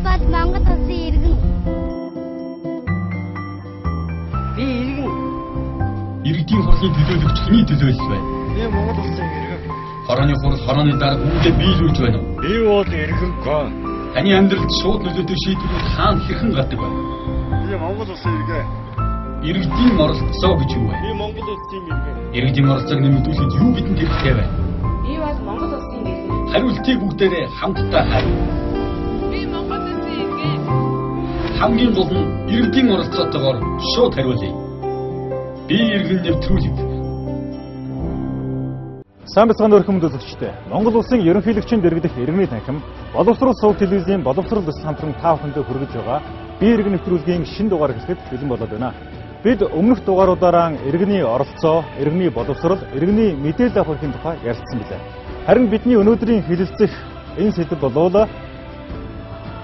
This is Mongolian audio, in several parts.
бод Монгол улсын иргэн. Би иргэн. Иргэдийн хурлын төлөөлөгч хэний төлөөлөл байна? Би Монгол улсын иргэн. Хорооны хурал хорооны дарга үүнтэй биелүүлж байна уу? Би бол иргэн гоо. Таны амьдралд шууд нөлөөтэй шийдвэрүүд хаана хэрхэн гардаг вэ? Би Монгол улсын иргэн. Иргэдийн оролцоо гэж юу вэ? Би Монгол улсын иргэн. Иргэдийн оролцоог нэмэгдүүлэхэд юу бидэнд хэрэгтэй вэ? Би бол Монгол улсын иргэн. Хариултыг бүгдээрээ хамтдаа хариу. Би Монгол улсын иргэн. Хамгийн гол нь иргэдийн оролцоотойгоор шууд хариулъя. Би иргэн нэвтрүүлэг. Сайн бацхан өрхөмд үзэгчтэй. Монгол улсын ерөнхийлөгчийн дэргэдэх иргэний танхим боловсрол сувг телевизийн боловсрол төс хамтран та бүхэндээ хүргэж байгаа би иргэн нэвтрүүлгийн шинэ дугаар гэхэд бэлэн болоод байна. Бид өмнөх дугааруудаараа иргэний оролцоо, иргэний боловсрол, иргэний мэдээлэл авахын тухай ярилцсан билээ. Харин бидний өнөөдрийн хэлэлцэх энэ сэдэв болов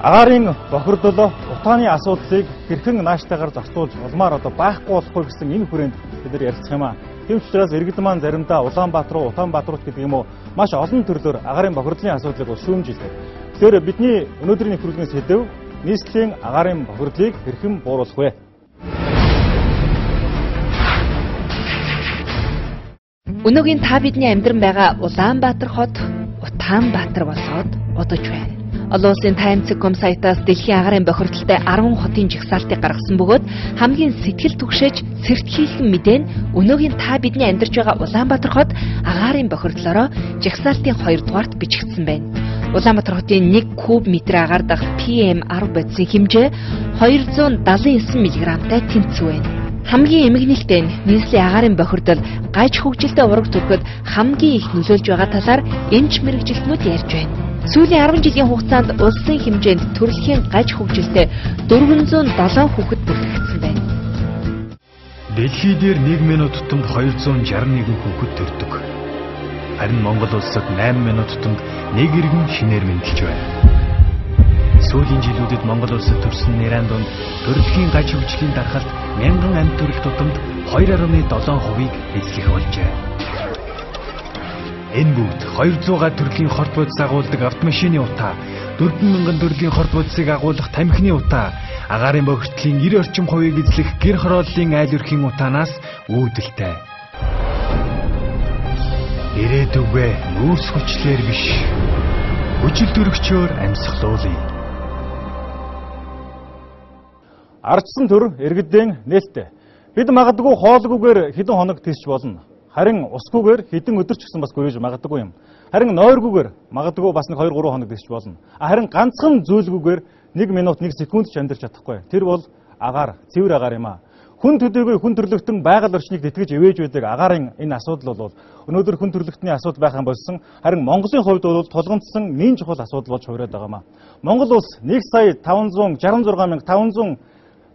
агаарын бохирдол утааны асуудлыг хэрхэн нааштайгаар зарцуулж улмаар байхгүй болохгүй гэсэн энэ хүрээнд бид нар ярилцах юм аа. Тийм ч учраас иргэд маань заримдаа Улаанбаатар руу, Утаанбаатар руу гэдэг юм уу маш олон төрлөөр агаарын бохирдлын асуудлыг шүүмжилдэг. Тэгэхээр бидний өнөөдрийн нэвтрүүлгийн сэдэв нийслэлийн агаарын бохирдлыг хэрхэн бууруулах вэ? Өнөөгийн та бидний амьдран байгаа Улаанбаатар хот Утаанбаатар болоод одож байна. Олон улсын таймцэком сайтаас дэлхийн агаарын бохирдолтой 10 хотын жагсаалтыг гаргасан бөгөөд хамгийн сэтгэл түгшээж сэртхийлэн мэдээ нь өнөөгийн та бидний амьдарч байгаа Улаанбаатар хот агаарын бохирдлороо жагсаалтын 2 дугаарт бичигдсэн байна. Улаанбаатар хотын 1 куб метр агаар дах PM10 бодисын хэмжээ 279 мг-тай тэнцүү байна. Хамгийн эмгэнэлтэй нь нийслэлийн агаарын бохирдол гаж хөгжилтэй ураг төрөхөд хамгийн их нөлөөлж байгаа талаар эмч мэргэжилтнүүд ярьж байна. Сүүлийн 10 жилийн хугацаанд улсын хэмжээнд төрөлхийн гаж хөгжилтэй 407 хүүхэд бүртгэгдсэн байна. Дэлхий дээр 1 минут тутамд 261 хүүхэд төрдөг. Харин Монгол улсад 8 минут тутамд 1 иргэн шинээр мэндэлж байна. Сүүлийн жилүүдэд Монгол улсад төрсөн нэрийн дунд төрөлхийн гаж хөгжлийн дархалт 1000 амьд төрөл тутамд 2.7%-ийг эзлэх болжээ. Энэ бүгд 200-га төрлийн хорт бодис агуулдаг автомашины утаа, 4000 төрлийн хорт бодисыг агуулах тамхины утаа, агаарын бохирдлын 90 орчим хувийг эзлэх гэр хорооллын айл өрхийн утаанаас үүдэлтэй. Ирээдүгөө нүүрс хүчлэр биш, хүчил төрөгчөөр амьсгалуулъя. Ардчсан төр иргэдийн нээлттэй. Бид магадгүй хоолгүйгээр хэдэн хоног тийсч болно. Харин усгүйгээр хэдэн өдөр ч гэсэн бас гөрөж магадгүй юм. Харин нойргүйгээр магадгүй бас 1-2-3 хоног тийсч болно. Харин ганцхан зүйлгүйгээр 1 минут 1 секунд ч амьдарч чадахгүй. Тэр бол агаар, цэвэр агаар юм аа. Хүн төдийгүй хүн төрлөختөн байгаль орчныг тэтгэж ивэж байдаг агаарын энэ асуудал бол өнөөдөр хүн төрлөختний асуудал байх юм болсон. Харин Монголын хувьд бол тулгамдсан нэн чухал асуудал болж хувираад байгаа маа. Монгол улс 1,566,500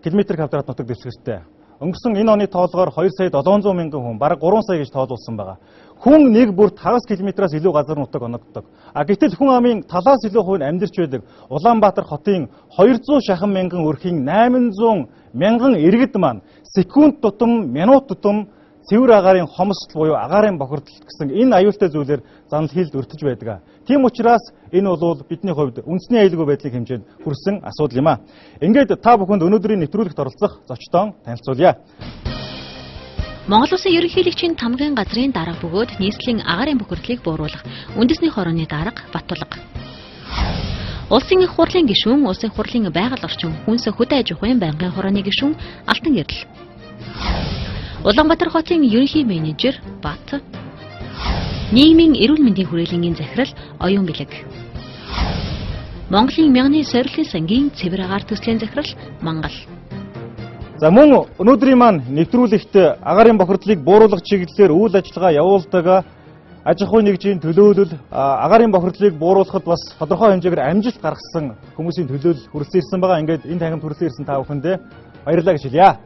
км квадрат нутаг дэвсгэртэй. Өнгөрсөн энэ оны тоолгоор 2,700,000 хүн, бараг 3 сая гэж тоолуулсан байгаа. Хүн нэг бүр 5 км-аас илүү газар нутаг оногддог. Гэтэл хүн амын талаас илүү хувь нь амьдарч байдаг Улаанбаатар хотын 200 шахан мянган өрхийн 800 мянган иргэд маань секунд тутам, минут тутам цэвэр агаарын хомсдол буюу агаарын бохирдол гэсэн энэ аюултай зүйлээр занал хийлд өртөж байдаг. Тийм учраас энэ бол бидний хувьд үндэсний аюулгүй байдлын хэмжээнд хүрсэн асуудал юм аа. Ингээд та бүхэнд өнөөдрийн нэвтрүүлэгт оролцох зочдоо танилцуулъя. Монгол улсын ерөнхийлөгчийн тамгын газрын дарга бөгөөд нийслэлийн агаарын бохирдлыг бууруулах үндэсний хорооны дарга Баттулга. Улсын их хурлын гишүүн, улсын хурлын байгаль орчин хүнс хөдөө аж ахуйн байнгын хорооны гишүүн Алтан Гэрэл. Улаанбаатар хотын ерөнхий менежер Бат. Нийгмийн эрүүл мэндийн хүрээлэнгийн захирал Оюун Бэлэг. Монголын мянганы сорилтын сангийн цэвэр агаар төслийн захирал Мангал. За мөн өнөөдрийн маань нэвтрүүлэгт агаарын бохирдлыг бууруулах чиглэлээр үйл ажиллагаа явуулдаг аж ахуйн нэгжийн төлөөлөл агаарын бохирдлыг бууруулахад бас тодорхой хэмжээгээр амжилт гаргасан хүмүүсийн төлөөлөл хүрэлцэн ирсэн байгаа. Ингээд энэ тахимд хүрэлцэн ирсэн та бүхэндээ баярлалаа гэж хэлье.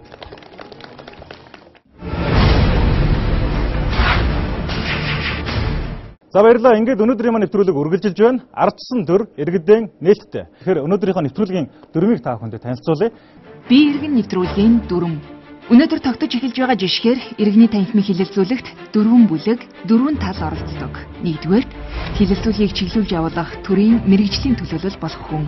За баярлалаа. Ингээд өнөөдрийн маань нэвтрүүлэг үргэлжилж байна. Ардчсан төр иргэдийн нээлттэй. Тэгэхээр өнөөдрийнхөө нэвтрүүлгийн дүрмийг та бүхэнд танилцуулъя. Би иргэн нэвтрүүлгийн дүрм. Өнөөдөр тогтож эхэлж байгаа жишгээр иргэний танхимыг хилэлцүүлэхт 4 бүлэг, 4 тал оролцдог. Нэгдүгээр, хилэлцүүлгийг чиглүүлж явуулах төрийн мэрэгжлийн төлөөлөл болох хүн.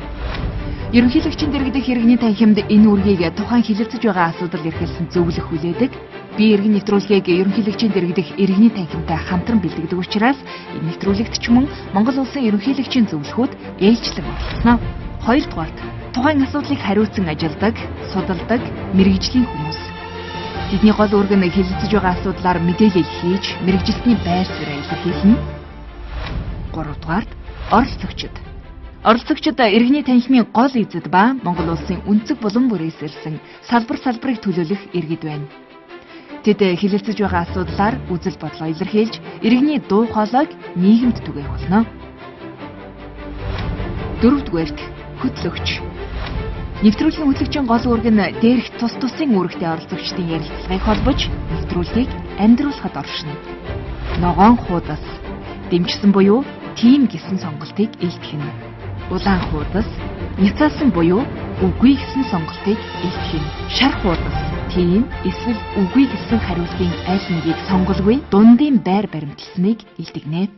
Ерөнхийлөгчийн дэргэдэх иргэний танхимд энэ үргийг тухайн хилэлцэж байгаа асуудал эрхэлсэн зөвлөх хүлээдэг. Би иргэн нэвтрүүлгийг ерөнхийлөгчийн дэргэдэх иргэний танхимтай хамтран бэлтгэдэг учраас энэ нэвтрүүлэгт ч мөн Монгол улсын ерөнхийлөгчийн зөвлөхүүд ээлжлэн оролцсноо. Хоёрдугаарт тухайн асуудлыг хариуцсан ажилдаг, судалдаг, мэрэгжлийн хүмүүс. Тэдний гол үүрэг нь хилэлцэж байгаа асуудлаар мэдээлэл хийж, мэрэгжилтний байр суурийг илэрхийлнэ. Гуравдугаарт оролцогчид. Оролцогчид иргэний танхимын гол эзэд ба Монгол улсын өнцөг булан бүрээс ирсэн салбарыг төлөөлөх иргэд байна. Тэд хилэлцэж байгаа асуудлаар үзэл бодлоо илэрхийлж, иргэний дуу хоолойг нийгэмд түгээх болно. Дөрөвдүгээрт хөтлөгч. Нэвтрүүлгийн хөтлөгчийн гол үүрэг нь дээрх тус тусын үүрэгтэй оролцогчдын ярилцлагыг холбож, нэвтрүүлгийг амьдруулахад оршино. Ногоон хуудас. Дэмжсэн буюу тим гэсэн сонголтыг илтгэнэ. Улаан хуудас, няцаасан буюу үгүй гэсэн сонголтыг илтгэнэ. Шар хуудас, тийм эсвэл үгүй гэсэн хариултын аль нэгийг сонголгүй дундын байр баримтлсныг илтгэнэ.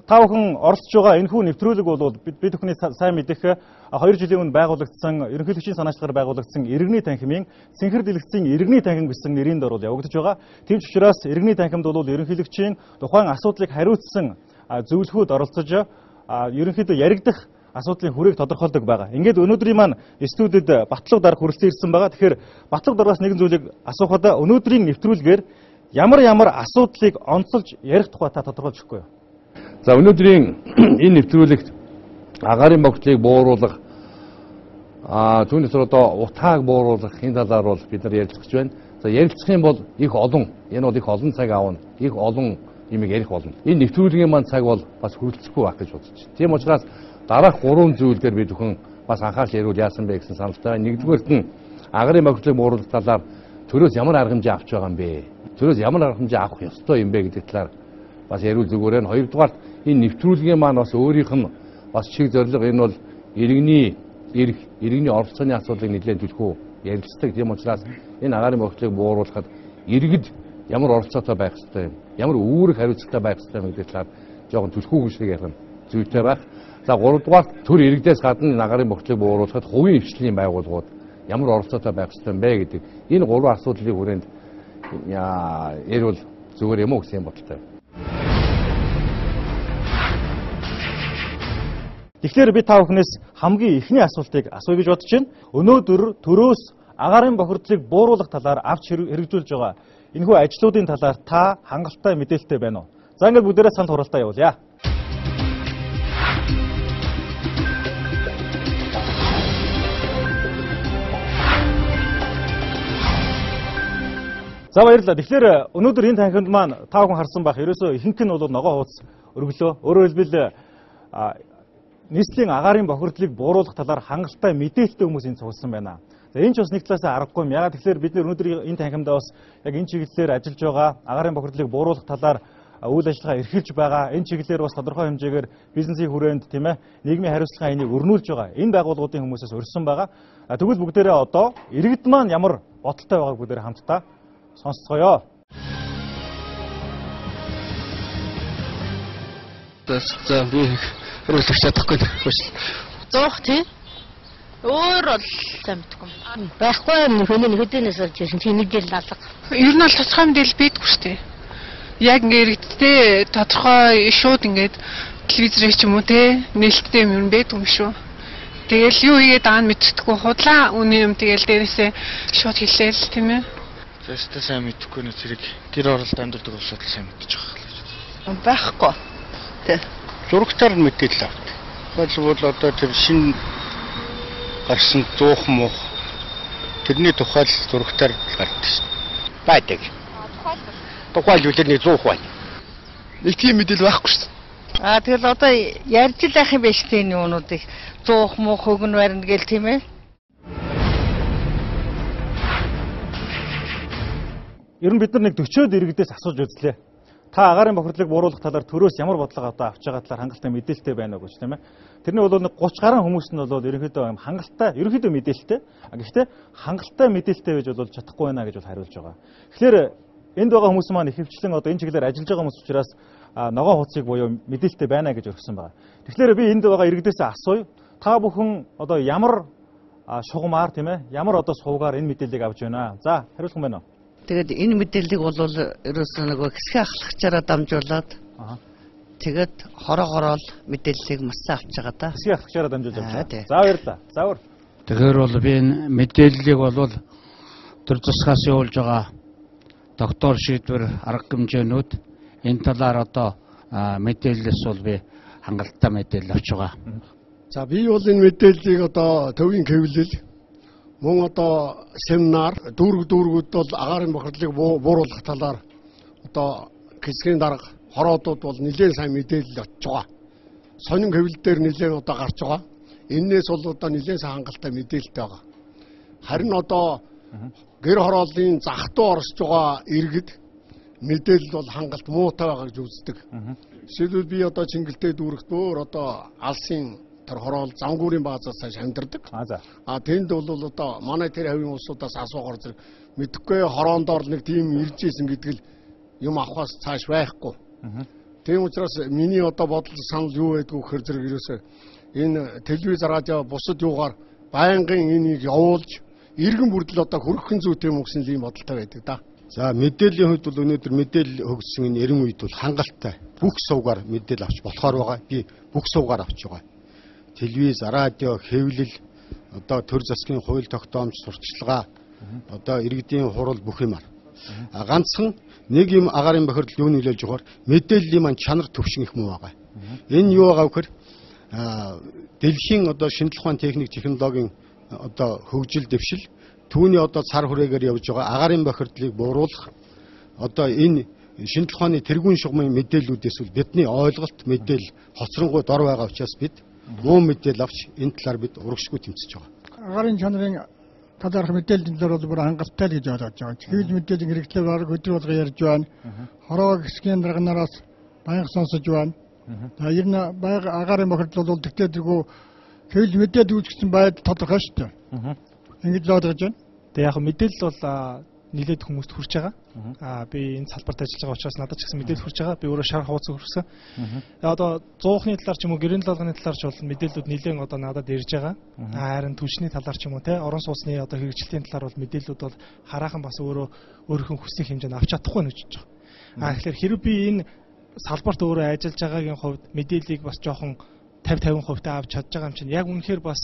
Та бүхэн оролцож байгаа энэхүү нэвтрүүлэг бол бид бүхний сайн мэдэх 2 жилийн өмнө байгуулагдсан ерөнхийлөгчийн санаачлагаар байгуулагдсан иргэний танхимын Цэнхэр дэлгэцийн иргэний танхим гэсэн нэрийн дор явагдаж байгаа. Тийм ч учраас иргэний танхимд бол ерөнхийлөгчийн тухайн асуудлыг хариуцсан зөвлөхүүд оролцож ерөнхийдөө яригдах асуудлын хүрээг тодорхойлдог байгаа. Ингээд өнөөдрийн маань студид Батлага дарга хүрэлцэн ирсэн байгаа. Тэгэхээр Батлага даргаас нэгэн зүйлийг асуухад өнөөдрийн нэвтрүүлгээр ямар асуудлыг онцолж ярих тухай та тодорхойлж өгөхгүй юу? За өнөөдрийн энэ нэвтрүүлэгт агаарын богдлыг бууруулах түүнээс одоо утгааг бууруулах энэ талаар бол бид нар ярилцж байна. За ярилцах юм бол их олон энэ бол их олон цаг аавна. Их олон юмыг ярих болно. Энэ нэвтрүүлгийн маань цаг бол бас хүрэлцэхгүй байх гэж бодож байна. Тийм учраас дараах 3 зүйл дээр бид бүхэн бас анхаарал ярил яасан бэ гэсэн саналтай. Нэгдүгээрт нь агаарын богдлыг бууруулах талаар төрөөс ямар арга хэмжээ авч байгаа юм бэ? Төрөөс ямар арга хэмжээ авах ёстой юм бэ гэдэг талаар бас ярил зүгээр нь. Хоёрдугаарт энэ нэвтрүүлгийн маань бас өөрийнх нь бас чиг зорилго энэ бол иргэний оролцооны асуудлыг нэлээд түлхүү ярилцдаг. Тийм учраас энэ агаарын богдлыг бууруулахад иргэд ямар оролцоотой байх ёстой юм, ямар үүрэг хариуцлагатай байх ёстой юм гэдэг талаар жоохон түлхүү шиг ярих нь зүйтэй байх. За 3 дугаарт төр иргэдээс гадна агаарын богдлыг бууруулахад хувийн хвшлийн байгууллагууд ямар оролцоотой байх ёстой юм бэ гэдэг энэ 3 асуудлыг хүрээнд ярил зүгээр юм уу гэсэн бодолтой. Тэгэхээр би та бүхнээс хамгийн ихний асуултыг асууя гэж бодож байна. Өнөөдөр төрөөс агаарын бохирдлыг бууруулах талаар авч хэрэгжүүлж байгаа энэхүү ажлуудын талаар та хангалттай мэдээлэлтэй байна уу? За ингээд бүгдээрээ санал хураалтаа явуулъя. За баярлалаа. Тэгэхээр өнөөдөр энэ танхимд маань та бүхэн харсан байх. Ерөөсөө ихэнх нь бол ногоо хуудас өргөлөө. Өөрөөр хэлбэл нийслэлийн агаарын бохирдлыг бууруулах талаар хангалттай мэдээлэлтэй хүмүүс энэ цугласан байна. За энэ ч бас нэг талаасаа аргагүй юм. Ягаад тэгэхээр бид нэр өнөөдөр энэ танхимдаа бас яг энэ чиглэлээр ажиллаж байгаа агаарын бохирдлыг бууруулах талаар үйл ажиллагаа эрхэлж байгаа. Энэ чиглэлээр бас тодорхой хэмжээгээр бизнесийн хүрээнд тийм ээ нийгмийн хариуцлагын хаянийг өрнүүлж байгаа. Энэ байгууллагуудын хүмүүсээс урьсан байгаа. Тэгвэл бүгдээрээ одоо иргэд маань ямар бодолтой байгааг бүгдээрээ хамтдаа сонсцгоё. За би өрөөлөх чадахгүй байна. Зоох тий. Өөр бол сайн мэдгүй. Байхгүй юм хүний нэгдэнээс олж ирсэн тийм мэдээлэл алга. Ер нь бол тодорхой мэдээлэл байдгүй шүү дээ. Яг ингээд тодорхой шууд ингээд телевизээр ч юм уу те нээлттэй юм байдгүй юм шүү. Тэгэл юу хийгээд байгаа нь мэддэггүй худлаа үний юм тэгэл дээрээсээ шууд хэлээл тийм ээ. Тэстэ сайн мэдхгүй нэ зэрэг гэр оролт амьддаг улсууд сайн мэдчих واخ. Байхгүй. Тэ. Зурагтаар мэдээлэл авт. Бол одоо тэр шин гарсан зуух муух тэрний тухай зурагтаар гардаг шин. Байдаг. Тухай юу тэрний зуух байна. Нэг тийм мэдээлэл байхгүй шин. Тэгэл одоо ярьж л ах юм биш тийм юмнуудыг зуух муух хөгн барина гэл тийм ээ. Ер нь бид нар нэг 40-од иргэдээс асууж үзлээ. Та агаарын бохирдлыг бууруулах талаар төрөөс ямар бодлого авч байгаа талаар хангалттай мэдээлэлтэй байна уу гэж тийм ээ. Тэрний бол нэг 30 гаруй хүмүүс нь бол ерөнхийдөө хангалттай, ерөнхийдөө мэдээлэлтэй. Гэхдээ хангалттай мэдээлэлтэй байж бол чадахгүй байна гэж бол хариулж байгаа. Тэгэхээр энд байгаа хүмүүс маань ихэвчлэн одоо энэ чиглэлээр ажиллаж байгаа хүмүүс учраас ногоон хуудсыг буюу мэдээлэлтэй байна гэж өргөсөн байгаа. Тэгэхээр би энд байгаа иргэдээс асууя. Та бүхэн одоо ямар шугамар тийм ээ ямар одоо суугаар энэ мэдээллийг авч байна. За хариулах юм байна уу? Тэгээд энэ мэдээллийг бол ерөөсөө нөгөө хэсэг ахлагчаараа дамжуулаад тэгээд хороогоорол мэдээллийг марцсан авч байгаа да. Хэсэг ахлагчаараа дамжуулж авч байгаа. За баярлалаа. За өөр. Тэгэхээр бол би энэ мэдээллийг бол төр засгаас явуулж байгаа доктор шийдвэр арга хэмжээнүүд энэ талаар одоо мэдээлэлс бол би хангалттай мэдээлэл авч байгаа. За би бол энэ мэдээллийг одоо төвийн хэвлэл мөн одоо семинар дүүргүүд бол агаарын бохирдлыг бууруулах талаар одоо хэсгийн дарга хороодууд бол нэлээд сайн мэдээлэл очиж байгаа. Сонин хэвлэл дээр нэлээд одоо гарч байгаа. Эннээс бол одоо нэлээд сайн хангалттай мэдээлэлтэй байгаа. Харин одоо гэр хорооллын зах дуу орсож байгаа иргэд мэдээлэл бол хангалт муутай байгааг үздэг. Жишээлбэл би одоо Чингэлтэй дүүрэгт өөр одоо алсын тэр хороол замгүүрийн баазаас цааш амьдардаг. Тэнд бол одоо манай тэр хавийн улсуудаас асуугаар зэрэг мэдхгүй хороондоор нэг тийм ирж ийсэн гэдэг л юм авахаас цааш байхгүй. Тийм учраас миний одоо бодол санал юу байдгүй гэхээр зэрэг ерөөсөө энэ телевиз радио бусад юугаар байнгын энийг явуулж иргэн бүрдэл одоо хөрөхөн зүйтэй юм гэсэн ийм бодолтой байдаг да. За мэдээллийн хувьд бол өнөөдөр мэдээлэл хөгжсөн энэ 90 үед бол хангалттай бүх сувгаар мэдээлэл авч болохоор байгаа. Би бүх сувгаар авч байгаа. Телевиз, радио, хэвлэл, одоо төр засгийн хууль тогтоомж, сурталчилгаа, одоо иргэдийн хурал бүх юмар. Ганцхан нэг юм агаарын бохирдол юу нөлөөлж байгаа мэдээллийн маань чанар төвшин их муу байгаа. Энэ юу байгаа вэхээр дэлхийн одоо шинжлэх ухааны техник технологийн одоо хөгжил дэвшил түүний одоо цар хүрээгээр явж байгаа агаарын бохирдлыг бууруулах одоо энэ шинжлэх ухааны тэргуун шугамын мэдээллүүдээс бол бидний ойлголт мэдээлэл хоцронгуй дор байгаа учраас бид муу мэдээлэл авч энэ талаар бид урагшгүй тэмцэж байгаа. Агаарын чанарын талаарх мэдээллийн дээр бол бүр хангалттай л гэж ойлгож байгаа. Хэвлэл мэдээллийн хэрэгтлээ баг өдөр болго ярьж байна. Хороо хэсгийн дарганараас баян сонсож байна. Ер нь байга агаарын бохирдол бол тэгтээ тэргүй хэвлэл мэдээлэл үүсгэсэн байдал тодорхой шүү дээ. Ингэж л ойлгож байна. Тэгээ яг мэдээлэл бол нэлээд хүмүүст хүрч байгаа. Би энэ салбарт ажиллаж байгаа учраас надад ч гэсэн мэдээлэл хүрч байгаа. Би өөрөө шар хавцаг хүрсэн. Одоо 100-ны талаар ч юм уу гэрийн даалганы талаар ч бол мэдээллүүд нэлээд одоо надад ирж байгаа. Харин түвшний талаар ч юм уу те орон сууцны одоо хэрэгжилтийн талаар бол мэдээллүүд бол хараахан бас өөрийнхөө хүссэн хэмжээнд авч чадахгүй нь гэж байгаа. Тэгэхээр хэрэв би энэ салбарт өөрөө ажиллаж байгаагийн хувьд мэдээллийг бас жоохон 50-50% авч чадж байгаа юм чинь яг үнэхээр бас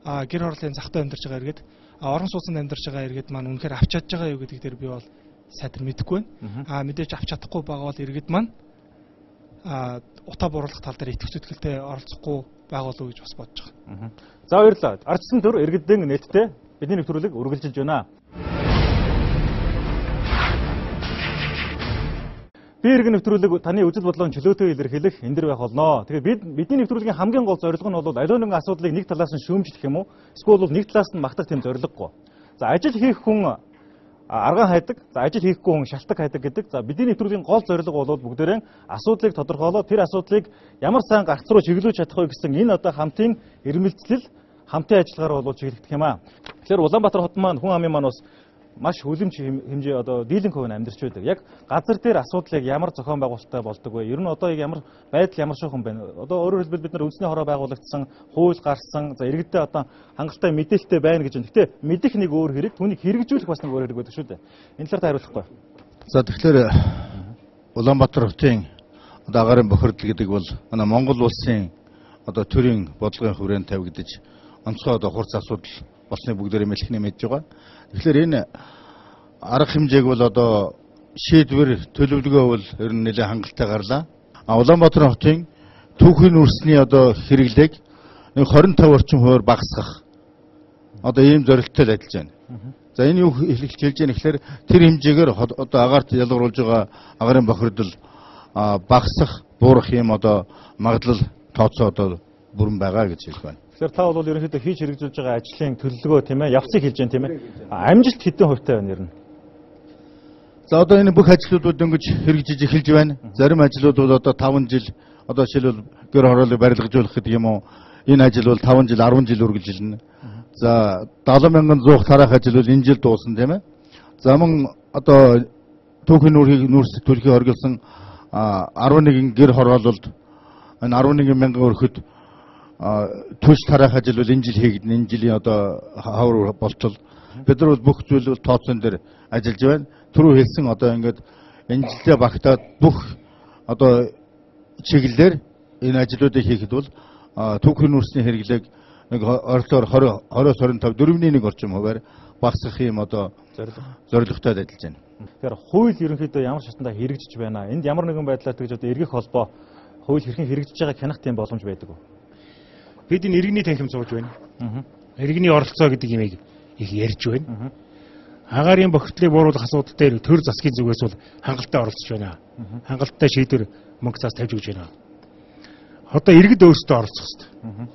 гэр хорооллын захтай амьдарч байгаа иргэд орон сууцнд амьдарч байгаа иргэд маань үнэхээр авч чадж байгаа юу гэдэг дээр би бол сайтар мэдэхгүй байна. Мэдээж авч чадахгүй байгаа бол иргэд маань утаа бууруулах тал дээр итгэж зүтгэлтэй оролцохгүй байгаа болов уу гэж бас бодож байгаа. За баярлалаа. Ардсан төр иргэдэн нийтдээ бидний нэвтрүүлэг үргэлжилж байна. Би иргэн нэвтрүүлэг таны үзэл бодлогын чөлөөтэй илэрхийлэх энэ дэр байх болно. Тэгэхээр бидний нэвтрүүлгийн хамгийн гол зорилго нь бол аливаа нэгэн асуудлыг нэг талаас нь шүүмжлэх юм уу? Эсвэл бол нэг талаас нь магтах тийм зорилгогүй. За ажил хийх хүн аргаан хайдаг, за ажил хийхгүй хүн шалтак хайдаг гэдэг. За бидний нэвтрүүлгийн гол зорилго бол бүгдээрээ асуудлыг тодорхойлоод тэр асуудлыг ямар сайн гарц руу чиглүүлж чадах вэ гэсэн энэ одоо хамтын ирмэлцлэл, хамтын ажиллагаар бол чиглэгдэх юм аа. Тэгэхээр Улаанбаатар хот маань хүн амын маань бас маш хүлэмж хэмжээ одоо дийлэнх хувь амьдарч байдаг. Яг газар дээр асуудлыг ямар зохион байгуулалттай болдог вэ? Ер нь одоо ямар байдал ямар шуухан байна? Одоо өөрөөр хэлбэл бид нар үндэсний хороо байгуулагдсан, хууль гарсан, за иргэдээ одоо хангалттай мэдээлэлтэй байна гэж байна. Гэхдээ мэдэх нэг өөр хэрэг, түүнийг хэрэгжүүлэх бас нэг өөр хэрэг байдаг шүү дээ. Энэ талаар хариулахгүй. За тэгэхээр Улаанбаатар хотын одоо агаарын бохирдол гэдэг бол манай Монгол улсын одоо төрийн бодлогын хүрээнд тавигдаж онцгой одоо хурц асуудал болсныг бүгдээрээ мэлхний мэдж байгаа. Тэгэхээр энэ арга хэмжээг бол одоо шийдвэр төлөвлөгөө бол ер нь нэлээд хангалттай гарлаа. Улаанбаатар хотын түүхийн үрсний одоо хэрэглээг 25 орчим хувиар багасгах одоо ийм зорилттой л ажиллаж байна. За энэ юу хэлж байна гэхээр тэр хэмжээгээр одоо агаарт ялгаруулж байгаа агаарын бохирдол багасах, буурах юм одоо магадлал тооцоо одоо бүрэн байгаа гэж хэлж байна. Тэгэхээр та бол ерөнхийдөө хийж хэрэгжүүлж байгаа ажлын төлөвлөгөө тийм ээ, явцыг хэлж байна тийм ээ. Амжилт хэдэн хувьтай байна ер нь? За одоо энэ бүх ажлуудууд дөнгөж хэрэгжиж эхэлж байна. Зарим ажлууд бол одоо 5 жил одоо жишээлбэл гэр хорооллыг барилгажуулах гэдэг юм уу. Энэ ажил бол 5 жил, 10 жил үргэлжилнэ. За 70,100 тараах ажил бол энэ жил дуусна тийм ээ. За мөн одоо түүхийн нүүрс төлхий оргилсон 11 гэр хороололд энэ 11,000 өрхөд төс тараах ажил бол энэ жил хийгдэн, энэ жилийн одоо хавар болтол бид нар бол бүх зүйл бол тооцоон дээр ажиллаж байна. Түрүү хэлсэн одоо ингээд энэ жилдээ багтаад бүх одоо чиглэлээр энэ ажлуудыг хийхэд бол түүхийн нүүрсний хэрэглээг нэг ойролцоогоор 20-25 4.1 орчим хувиар багасгах юм одоо зорилготой ажиллаж байна. Тэгэхээр хууль ерөнхийдөө ямар шатндаа хэрэгжиж байна? Энд ямар нэгэн байдлаар тэгж одоо эргэх холбоо хууль хэрхэн хэрэгжиж байгааг хянах тийм боломж байдаг уу? Бид энэ иргэний танхим сууж байна. Иргэний оролцоо гэдэг юмыг их ярьж байна. Агаарын бохирдлыг бууруулах асуудал дээр төр засгийн зүгээс бол хангалттай оролцож байна. Хангалттай шийдвэр мөнгө цаас тавьж өгч байна. Одоо иргэд өөрсдөө оролцох хэрэгтэй.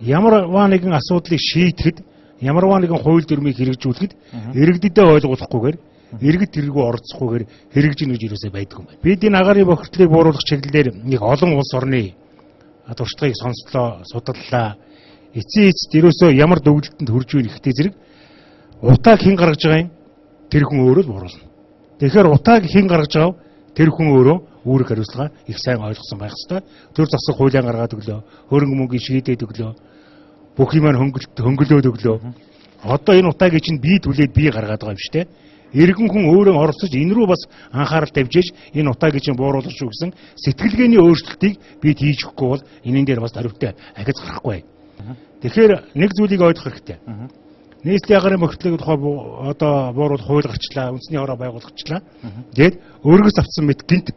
Ямарваа нэгэн асуудлыг шийдэхэд, ямарваа нэгэн хууль дүрмийг хэрэгжүүлэхэд иргэдэдээ ойлгуулахгүйгээр, иргэд тэргүү оролцохгүйгээр хэрэгжинэ гэж юусаа байдгүй юм байна. Бид энэ агаарын бохирдлыг бууруулах чиглэлээр нэг олон улс орны туршлагыг сонслоо, судаллаа. Эцсийн эцэд ерөөсөө ямар төвлөлтөнд хүрж байгааг ихтэй зэрэг утааг хэн гаргаж байгаа юм? Тэр хүн өөрөө л бууруулна. Тэгэхээр утааг хэн гаргаж байгаа? Тэр хүн өөрөө үүрэг хариуцлага их сайн ойлгосон байх ёстой. Төр засаг хуулиан гаргаад өглөө, хөрөнгө мөнгийг шийдээд өглөө, бүх юм хөнгөлөөд өглөө. Одоо энэ утаагийг чинь би түлээд би гаргаад байгаа юм шүү дээ. Иргэн хүн өөрөө оролцож энэ рүү бас анхаарал тавьж энэ утаагийг чинь бууруулах шүү гэсэн сэтгэлгээний өөрчлөлтийг бид хийж өгөхгүй бол энэн дээр бас хариутай ахиц гарахгүй. Тэгэхээр нэг зүйлийг ойлгох хэрэгтэй. Нийслэлийн агаарын бохирдлыг одоо бууруулах хууль гарчлаа, үндэсний хороо байгуулгачлаа. Тэгээд өргөс авсан мэт гинт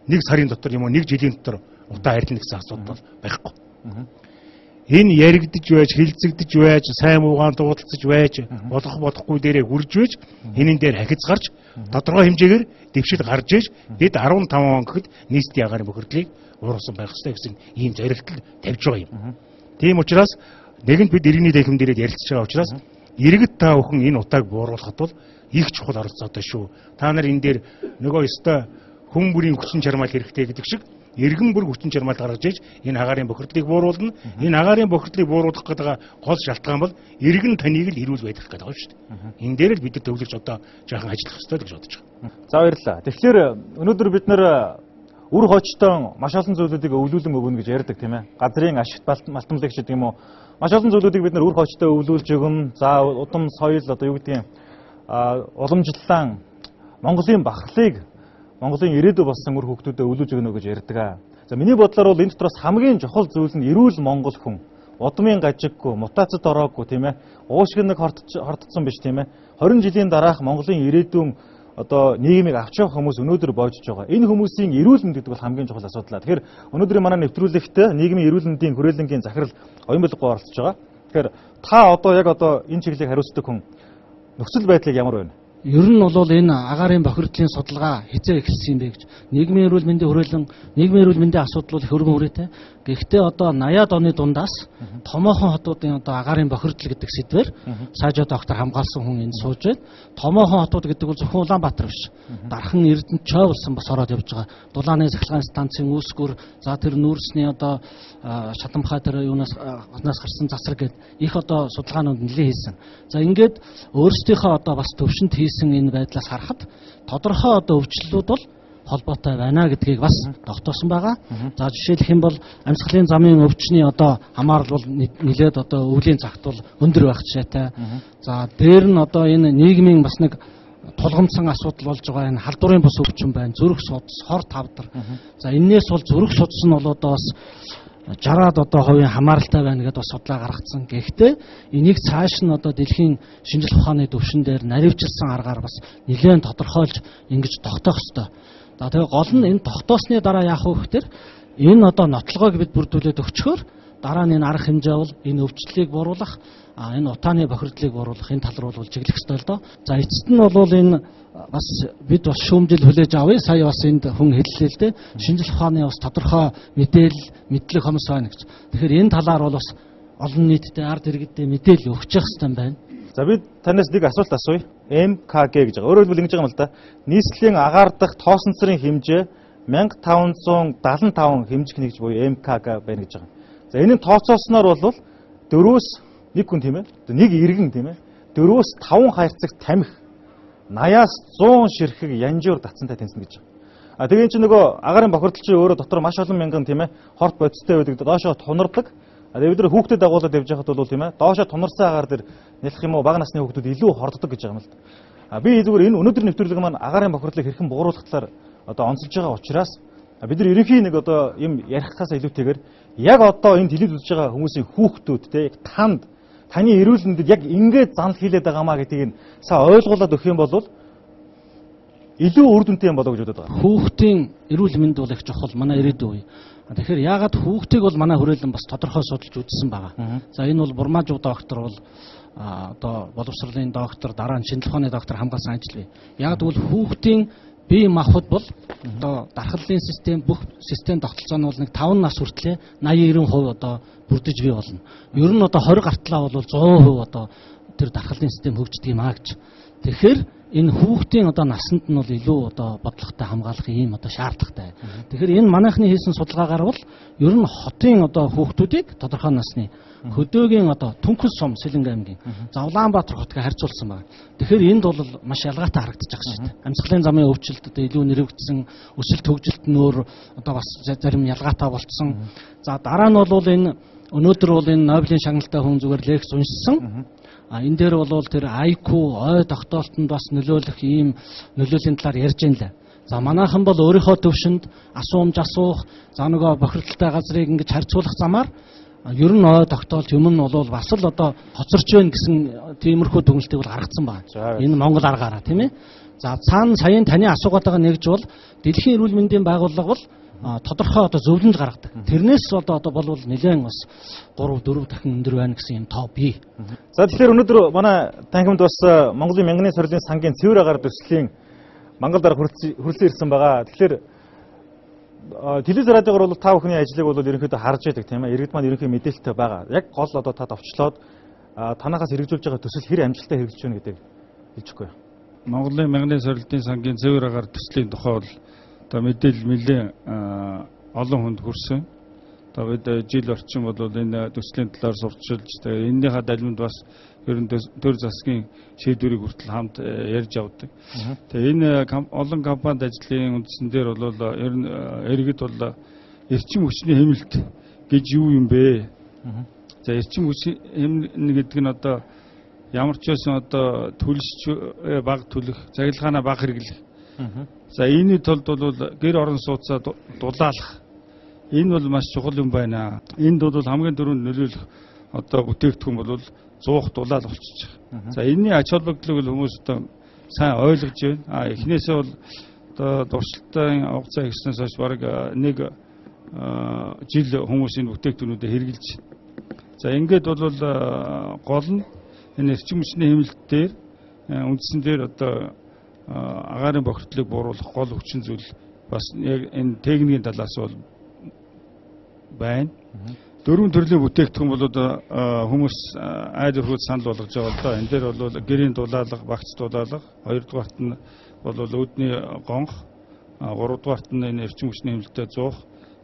нэг сарын дотор юм уу нэг жилийн дотор утаа харилна гэсэн асуудал байхгүй. Энэ яригдж байж, хилцэгдэж байж, сайн муугаан дуудалцаж байж, болох болохгүй дээрээ хүрж байж, энэн дээр ахиц гарч, тодорхой хэмжээгээр дэвшил гарч иж, бид 15 он гэхэд нийслэлийн агаарын бохирдлыг бууруулсан байх ёстой гэсэн ийм зорилтол тавьж байгаа юм. Тийм учраас нэгэнт бид иргэний танхим дээрээ ярилцж байгаа учраас иргэд та бүхэн энэ утааг бууруулахад бол их чухал оролцоотой шүү. Та нар энэ дээр нөгөө ёстой хүн бүрийн хүчин чармайл хэрэгтэй гэдэг шиг иргэн бүр хүчин чармайл гаргаж иж энэ агаарын бохирдлыг бууруулна. Энэ агаарын бохирдлыг бууруулах гэдэг гол шалтгаан бол иргэн таныг л ирүүл байх гэдэг байгаа шүү дээ. Энэ дээр л бид нар төвлөрч одоо жаахан ажиллах ёстой гэж бодож байгаа. За баярлалаа. Тэгэхээр өнөөдөр бид нэр үр хожтон маш олон зүйлүүдийг өвлүүлэн өгнө гэж ярьдаг тийм ээ. Газрын ашигт малтамлаг ч гэдэг юм уу. Маш олон зүйлүүдийг бид нар үр хожтон өвлүүлж өгнө. За удам соёл одоо юу гэдгийг уламжлалан Монголын бахархлыг Монголын ирээдүй болсон үр хөвгтүүдэд өвлүүлж өгнө гэж ярьдаг. За миний бодлоор бол энэ дотроос хамгийн чухал зүйлс нь эрүүл монгол хүн. Удмын гажиггүй, мутацид ороогүй тийм ээ. Уушиг нэг хортцсон биш тийм ээ. 20 жилийн дараах Монголын ирээдүйн одоо нийгмийг авч явах хүмүүс өнөөдөр боожж байгаа. Энэ хүмүүсийн эрүүл мэнд гэдэг бол хамгийн чухал асуудал. Тэгэхээр өнөөдрийн манай нэвтрүүлэгт нийгмийн эрүүл мэндийн хүрээлэнгийн захирал оюун байлгүй оролцож байгаа. Тэгэхээр та одоо яг энэ чиглэлийг хариуцдаг хүн нөхцөл байдлыг ямар байна? Ер нь бол энэ агаарын бохирдлын судалгаа хязгаар эхэлсэн юм бэ гэж. Нийгмийн эрүүл мэндийн хүрээлэн, нийгмийн эрүүл мэндийн асуудал бол хөргөн хүрээтэй. Гэхдээ одоо 80-аад оны дундаас томоохон хотуудын одоо агаарын бохирдол гэдэг сэдвээр сайжаа доктор хамгаалсан хүн энд сууж байна. Томоохон хотууд гэдэг бол зөвхөн Улаанбаатар биш. Дархан Эрдэнэт Чой болсон бас ороод явж байгаа. Дулааны сахилгаан станцын үүсгэр, за тэр нүүрсний одоо Шатамхай тэр юунаас гарсан засаг гэдэг их одоо судалгаанууд нэлээд хийсэн. За ингээд өөрсдийнхөө одоо бас төвшөнд хийсэн энэ байдлаас харахад тодорхой одоо өвчлөлүүд бол холбоотой байна гэдгийг бас тогтоосон байгаа. За жишээлх юм бол амьсгалын замын өвчний одоо хамаарал бол нэлээд одоо өвлийн цагт бол өндөр байх жишээтэй. За дээр нь одоо энэ нийгмийн бас нэг тулгамдсан асуудал болж байгаа энэ халдварын бус өвчин байна. Зүрх судас, хор тавдар. За энээс бол зүрх судас нь бол одоо бас 60-аад одоо хувийн хамааралтай байна гэдээ бас судлаа гаргацсан. Гэхдээ энийг цааш нь одоо дэлхийн шинжлэх ухааны төвшин дээр наривчилсан аргаар бас нэлээд тодорхойлж ингэж тогтоох ёстой. За тэгээ гол нь энэ тогтоосны дараа яах вэ гэхээр энэ одоо нотлогоог бид бүрдүүлээд өгчхөөр дараа нь энэ арга хэмжээ бол энэ өвчлөлийг бууруулах, энэ утааны бохирдлыг бууруулах энэ тал руу бол чиглэх ёстой л доо. За эцэст нь бол энэ бас бид бас шүүмжил хүлээж авъя. Сая бас энд хүн хэллээ л дээ. Шинжлэх ухааны бас тодорхой мэдлэг хомс байна гэж. Тэгэхээр энэ талаар бол бас олон нийтэд ард иргэдэд мэдээлэл өгчих хэрэгтэй байна. За бид танаас нэг асуулт асууя. МКГ гэж байгаа. Өөрөөр хэлбэл ингэж байгаа юм л да. Нийслэлийн агаар дахь тоосонцрын хэмжээ 1575 хэмжих нэгж буюу МКГ байна гэж байгаа. За энэний тооцоосноор бол 4-өөс 1 хүн тийм ээ. Нэг иргэн тийм ээ. 4-өөс 5 хайрцагт тамхи 80-аас 100 ширхэг янжуур татсантай тэнцэнэ гэж байна. Тэгээд чинь нөгөө агарын бохирдол чинь өөрөө дотор маш олон мянган тийм ээ хорт бодистой байдаг доошоо тунардаг. Тэгээд бид нар хүүхдэд дагуулад явж байхад бол тийм ээ доошоо тунарсан агаар дээр нэлэх юм уу бага насны хүүхдүүд илүү хорддог гэж байгаа юм л да. Би зүгээр энэ өнөөдрийн нэвтрүүлэг маань агарын бохирдлыг хэрхэн бууруулах талаар одоо онцолж байгаа учраас бид нар ерөнхий нэг одоо юм ярихаас илүүтэйгээр яг одоо энэ телевиз үзэж байгаа хүмүүсийн хүүхдүүд те яг таны эрүүл мэндэд яг ингээд занал хийлээд байгаамаа гэдгийг сая ойлгуулад өгөх юм бол илүү үр дүнтэй юм болоо гэж бодод байгаа. Хүүхдийн эрүүл мэнд бол их чухал манай ирээдүйн үе. Тэгэхээр яагаад хүүхдийг бол манай хүрээлэн бас тодорхой судалж үзсэн байгаа. За энэ бол Бурмаажуу доктор бол одоо боловсролын доктор, дараа нь шинжилгээ ухааны доктор хамгаалсан ажил бий. Яг тэгвэл хүүхдийн бие махбод бол одоо дархлалын систем бүх систем тогтолцоо нь бол нэг 5 нас хүртлээр 80-90% одоо бүрдэж бий болно. Ер нь одоо 20 гартлаа бол 100% одоо тэр дархлалын систем хөгждөг юм аа гэж. Тэгэхээр энэ хүүхдийн одоо насанд нь бол илүү одоо бодлоготой хамгаалах ийм одоо шаардлагатай. Тэгэхээр энэ манайхны хийсэн судалгаагаар бол ер нь хотын одоо хүүхдүүдийг тодорхой насны хөдөөгийн одоо Түнхэл сум Сэлэнгэ аймгийн за Улаанбаатар хотыг харьцуулсан байна. Тэгэхээр энд бол маш ялгаатай харагдаж байгаа шүү дээ. Амьсгалын замын өвчлөлт одоо илүү нэрвэгдсэн, өсөлт хөгжилт нь өөр одоо бас зарим ялгаатай болцсон. За дараа нь бол энэ өнөөдөр бол энэ Нобелийн шагналтай хүн зүгээр лекц уншсан. Энэ дээр бол тэр IQ ой тогтоолтонд бас нөлөөлөх ийм нөлөөлийн талаар ярьж байна лээ. За манайхан бол өөрийнхөө төвшөнд асуумж асуух, за нөгөө бохирдолтой газрыг ингэж харьцуулах замаар ер нь ой тогтоолт юм нь бол бас л одоо хоцорч байна гэсэн тиймэрхүү дүгнэлтийг бол гаргацсан байна. Энэ Монгол аргаараа тийм ээ. За цаана саяын таны асуугаатайгаа нэгж бол Дэлхийн эрүүл мэндийн байгууллага бол тодорхой одоо зөвлөмж гаргадаг. Тэрнээс одоо болвол нэлээд бас 3-4 дахин өндөр байна гэсэн юм тоо бий. За тэгэхээр өнөөдөр манай танхимд бас Монголын мянганы сорилын сангийн цэвэр агаар төслийн Монгол дарга хүрэлцэн ирсэн байгаа. Тэгэхээр телевиз радиогоор бол та бүхний ажлыг бол ерөнхийдөө харж байдаг тийм ээ. Иргэд маань ерөнхий мэдээлэлтэй байгаа. Яг гол одоо та товчлоод танахаас хэрэгжүүлж байгаа төсөл хэр амжилттай хэрэгжиж байна гэдгийг хэлчихгүй. Монголын мянганы сорилтын сангийн цэвэр агаар төслийн тухай бол одоо мэдээлэл нэлээд олон хүнд хүрсэн. Тэгээд жил орчим бол энэ төслийн талаар сурталчилж тэгээд энэнийхээ далимд бас ер нь төр засгийн шийдвэрийг хүртэл хамт ярьж авдаг. Тэгээд энэ олон компанид ажлын үндсэн дээр бол ер нь иргэд бол эрчим хүчний хэмнэлт гэж юу юм бэ? За эрчим хүчний хэмнэлт гэдэг нь одоо ямар ч байсан одоо төлөвч баг төлөх, цахилгаанаа баг хэрэглэх. За энэний тулд бол гэр орон сууцаа дулаалах. Энэ бол маш чухал юм байна. Энд бол хамгийн түрүүнд нөлөөлөх одоо бүтээгдэхүүн бол зуух дулаал болчихж байгаа. За энэний ач холбогдлыг хүмүүс одоо сайн ойлгож байна. Эхнээсээ бол одоо дуршилтын хугацаа ихснээс хойш бараг нэг жил хүмүүс энэ бүтээгдэхүүнүүдэд хэрэгжилж байна. За ингээд бол гол нь энэ эрчим хүчний хэмнэлт дээр үндсэн дээр одоо агарын бохирдлыг бууруулах гол хүчин зүйл бас яг энэ техникийн талаас бол байна. 4 төрлийн бүтээгдэхүүн бол хүмүүс айд өрхөд санал болгож байгаа л да. Энэ дээр бол гэрийн дулаалга, багц дулаалга, 2-дугаарт нь бол үүдний гонх, 3-дугаарт нь энэ эрчим хүчний хэмнэлтэд зуух,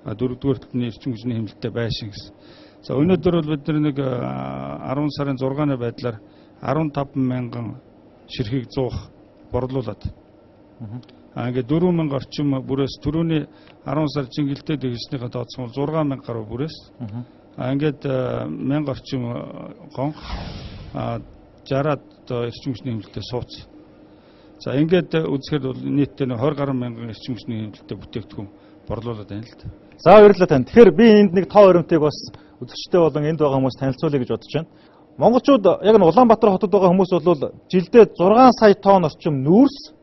4-дугаарт нь эрчим хүчний хэмнэлтэд байшин гэсэн. За өнөөдөр бол бид нэг 10 сарын 6-ны байдлаар 15 мянган ширхэг зуух борлуулад. Ингээд 4000 орчим бүрээс түрүүний 10 сар жингэлтэй дэвшнийхээ тооцсон 6000 гаруй бүрээс. Ингээд 1000 орчим гонх 60-аад эрчим хүчний хэмнэлтэд сууц. За ингээд үзэхэд бол нийтдээ 20 гаруй мянган эрчим хүчний хэмнэлтэд бүтээгдэхүүн борлуулад байна л да. За баярлалаа танд. Тэгэхээр би энд нэг тоо баримтыг бас үзэгчтэй болон энд байгаа хүмүүс танилцуулъя гэж бодож байна. Монголчууд яг нь Улаанбаатар хотод байгаа хүмүүс бол жилдээ 6 сая тонн орчим нүүрс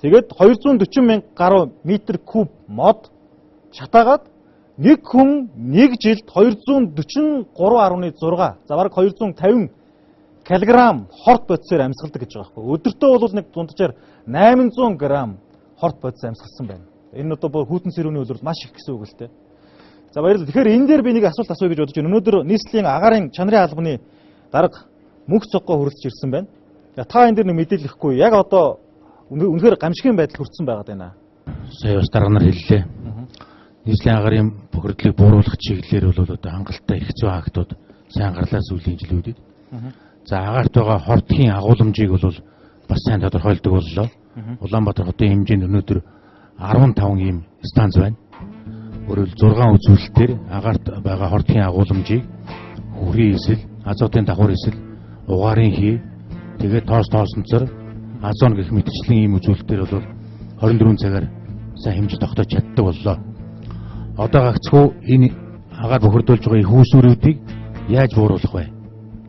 тэгээд 240 мянга гаруй метр куб мод шатаагаад нэг хүн нэг жилд 243.6 за бараг 250 кг хорт бодисоор амьсгалдаг гэж байгаа байхгүй. Өдөртөө бол нэг дунджаар 800 г хорт бодис амьсгалсан байна. Энэ одоо хүйтэн сэрүүний үлрэл маш их гэсэн үг л дээ. За баярлалаа. Тэгэхээр энэ дээр би нэг асуулт асууя гэж бодож байна. Өнөөдөр нийслэлийн агарын чанарын албаны дарга мөнх цоггоо хүрэлцэж ирсэн байна. Та энэ дээр нэг мэдээлэл өгөхгүй. Яг одоо үнэхээр гамшигын байдал хүрсэн байгаад байна. Сая бас дарга нар хэллээ. Нийслэлийн агарын бохирдлыг бууруулах чиглэлээр бол одоо хангалттай их зүйн актууд сайн гарлаа сүүлийн жилүүдэд. За агаарт байгаа хортгийн агуулмжийг бол бас сайн тодорхойлдог боллоо. Улаанбаатар хотын хэмжээнд өнөөдөр 15 ийм станц байна. Өөрөөр 6 үзүүлэлтээр агаарт байгаа хордгийн агуулмжийг хүрийн эсэл, азотын давхар эсэл, угаарын хий, тэгээд тоосонцор, азон гэх мэтчлэн ийм үзүүлэлтээр бол 24 цагаар сайн хэмжиж тогтоож чаддаг боллоо. Одоо гагцхүү энэ агаар бохирдуулж байгаа их үүсвэрүүдийг яаж бууруулах вэ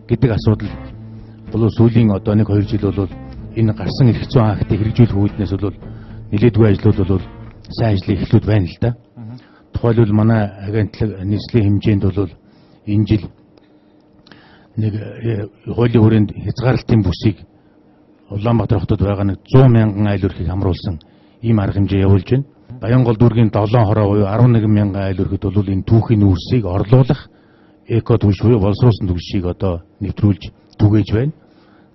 гэдэг асуудал бол сүүлийн одоо 1-2 жил бол энэ гарсан эрх зүйн актыг хэрэгжүүлэх үүднээс бол нэлээдгүй ажлууд бол сайн ажлын эхлүүд байна л да. Тухайлбал манай агентлаг нийслэлийн хэмжээнд бол энэ жил нэг хуулийн хүрээнд хязгаарлалтын бүсийг Улаанбаатар хотод байгаа нэг 100 мянган айл өрхийг хамруулсан ийм арга хэмжээ явуулж байна. Баянгол дүүргийн 7 хороо буюу 11 мянган айл өрхөд бол энэ түүхийн үүсийг орлуулах эко түвш буюу боловсруулсан түвшийг одоо нэвтрүүлж түгээж байна.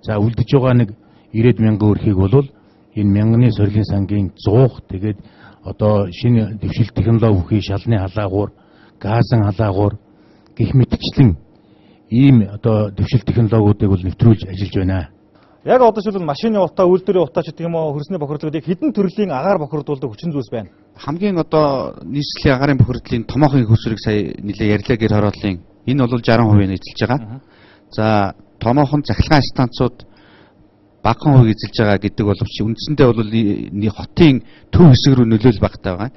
За үлдэж байгаа нэг 90 мянган өрхийг бол энэ мянганы сорилын сангийн 100 тэгээд одоо шинэ дэвшил технологи бүхий шалны халаагуур, газын халаагуур гэх мэтчлэн ийм одоо дэвшил технологиудыг бол нэвтрүүлж ажиллаж байна. Яг одоо шилбэл машины утаа, үйлдвэрийн утаа ч гэх юм уу хөрсний бохирдлыг хэдэн төрлийн агаар бохирдуулдаг хүчин зүйлс байна. Хамгийн одоо нийслэлийн агаарын бохирдлын томоохон хөрсрийг сая нэлээ ярьлаа гэр хорооллын энэ бол 60% эзэлж байгаа. За томоохон захилгаан станцууд багахан хувийг эзэлж байгаа гэдэг боловч үндсэндээ бол хотын төв хэсэг рүү нөлөөлөл багтаа байгаа.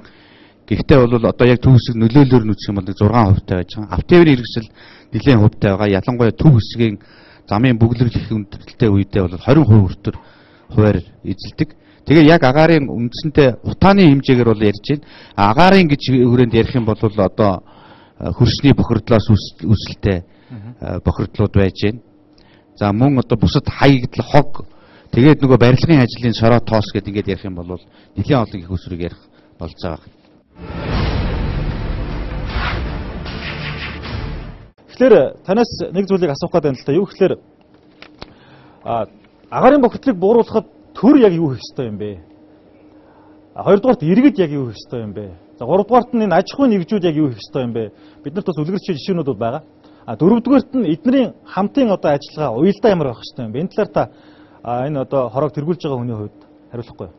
Гэхдээ бол одоо яг төв хэсэг нөлөөлөөр нь үзэх юм бол 6% тавьж байгаа. Автовын хэрэгсэл нэлээд хувьтай байгаа. Ялангуяа төв хэсгийн замын бүглэрлэх хүндрэлтэй үедээ бол 20% хүртэл хуваар эзэлдэг. Тэгээ яг агаарын үндсэндээ утааны хэмжээгээр бол ярьж байна. Агаарын гэж хүрээнд ярих юм бол одоо хөрсний бохирдлоос үүсэлтэй бохирдлууд байж байна. За мөн одоо бусад хаягдл хог тэгээд нөгөө барилгын ажлын сороо тоос гэдэг ингээд ярих юм бол нэлийн олон их усрыг ярих болж байгаа. Тэгэхээр танаас нэг зүйлийг асуух гэдэг юм л та. Юу гэхээр агаарын бохирдлыг бууруулахад төр яг юу хийх ёстой юм бэ? Хоёрдугаарт иргэд яг юу хийх ёстой юм бэ? За гуравдугаарт нь энэ аж ахуйн нэгжүүд яг юу хийх ёстой юм бэ? Биднэрт бас үлгэрч жишээнүүд байгаа. Дөрөвдүгээрт нь эднэрийн хамтын одоо ажиллагаа уялдаа ямар байх ёстой юм бэ? Энэ талаар та энэ одоо хорог тэргүүлж байгаа хүний хувьд хариулахгүй юу?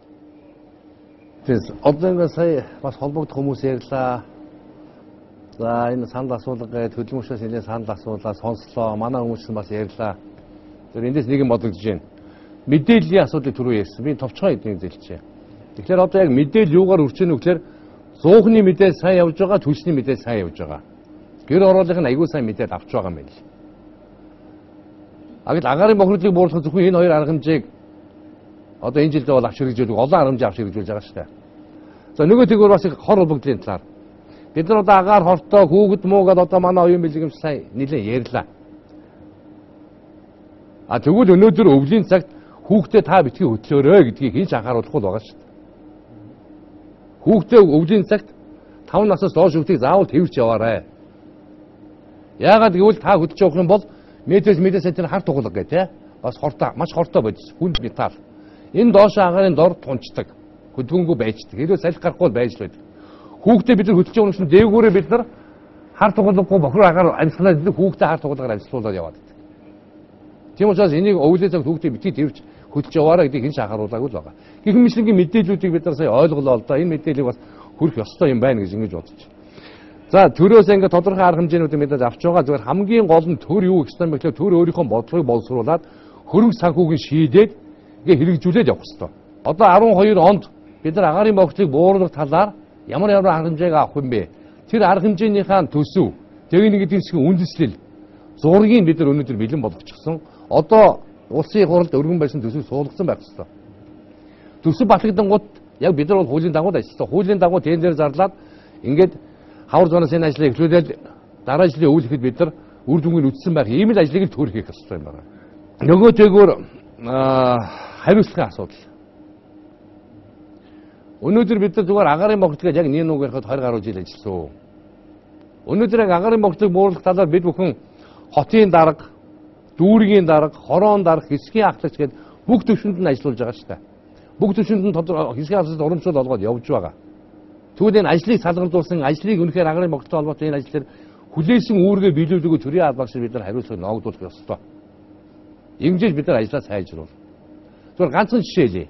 Тэгээс одоо ингээд сая бас холбогдох хүмүүс ярьлаа. За энэ санал асуулга гэдэг хөдөлмөрчөөс нэлээд санал асуулаа сонслоо. Манай хүмүүс бас ярьлаа. Тэр эндээс нэг юм бодогдож байна. Мэдээллийн асуудлыг түрүү ярьсан. Би товчхон эднийг зэлчихье. Тэгэхээр одоо яг мэдээлэл юугаар өрчөнө вэ гэхээр зуухны мэдээлэл сайн явж байгаа, түлшний мэдээлэл сайн явж байгаа. Гэр ороолынх нь аягүй сайн мэдээлэл авч байгаа юм байна л. Агт агаарын бохирдлыг бууруулах зөвхөн энэ хоёр арга хэмжээг одоо энэ жилдээ бол авч хэрэгжүүлдэг олон арга хэмжээ авч хэрэгжүүлж байгаа шүү дээ. За нөгөө тэгвэр бас их хор холбогдлын талаар бид нар одоо агаар хортой хүүхэд муугаад одоо манай оюун бэлгэмж сайн нэлээд ярьлаа. Тэгвэл өнөөдөр өвлийн цагт хүүхдээ та битгий хөтлөөрэй гэдгийг хэн ч анхааруулахгүй байгаа шүү дээ. Хүүхдээ өвлийн цагт 5 наснаас доош хүүхдийг заавал тэрвч яваарай. Яагаад гэвэл та хөдөлж явах юм бол метрээс сантиметр хар тугалга гэх тийм бас хортой маш хортой бодис хүнд металл. Энэ доош агаарын дор тунцдаг. Хөдөлгөөнгүй байждаг. Хэрвээ салхи гарахгүй байж байдаг. Хүүхдээ бид нар хөдөлж явах юм дээгүүрээ бид нар хар тугалгагүй бохир агаар амьсгалаад идэг хүүхдээ хар тугалгаар амьсгалуулаад яваад байдаг. Тийм учраас энийг өвлийн цаг хүүхдээ битгий тэрвч хөдөлж яваарай гэдгийг хэн ч анхааруулаагүй л байгаа. Гэх мэтлэнгийн мэдээллүүдийг бид нар сая ойлголоо л да. Энэ мэдээллийг бас хүрэх ёстой юм байна гэж ингэж бодож байна. За төрөөс ингээд тодорхой арга хэмжээнүүдийг мэдээж авч байгаа. Зүгээр хамгийн гол нь төр юу гэх юм бэ гэхээр төр өөрийнхөө бодлогыг боловсруулад хөрөнгө санхүүгийн шийдээд ингээд хэрэгжүүлээд явах ёстой. Одоо 12 онд бид нар агаарын бохирдлыг бууруулах талаар ямар арга хэмжээг авах юм бэ? Тэр арга хэмжээнийхээ төсөв, техник эдийн засгийн үндэслэл, зургийг бид нар өнөөдөр бэлэн болгочихсон. Одоо улсын хурлд өргөн байсан төсөв суулгасан байх ёстой. Төсөв батлагдангууд яг бид нар бол хуулийн дагуу ажилласан. Хуулийн дагуу тендер зарлаад ингээд хавар зуунаас энэ ажлыг эхлүүлээд дараа жилийн өвөл ихэд бид нар үр дүнгийн үтсэн байх ийм л ажлыг л төр хийх ёстой юм байна. Нөгөө зэгөр хариуцлагын асуудал. Өнөөдөр бид нар зүгээр агаарын бохирдлыг яг нэг нүг ярихад 20 гаруй жил ажилласан. Өнөөдөр яг агаарын бохирдлыг бууруулах талаар бид бүхэн хотын дарга, дүүргийн дарга, хороон дарга, хэсгийн ахлагч гэдэг бүх төвшөнд нь ажиллаж байгаа шүү дээ. Бүх төвшөнд нь хэсгийн ахлагчид урамшуул олгоод явж байгаа. Тэгвэл энэ ажлыг салгардуулсан, ажлыг үнэхээр агаарын бохирдлтой холбоотой энэ ажлаар хүлээсэн үүргээ биелүүлдэг төрийн албан шиг бид нар хариуцлага ногдуулах ёстой. Ингэж бид нар ажлаа сайжруулах. Зүгээр ганцхан жишээ хэлье.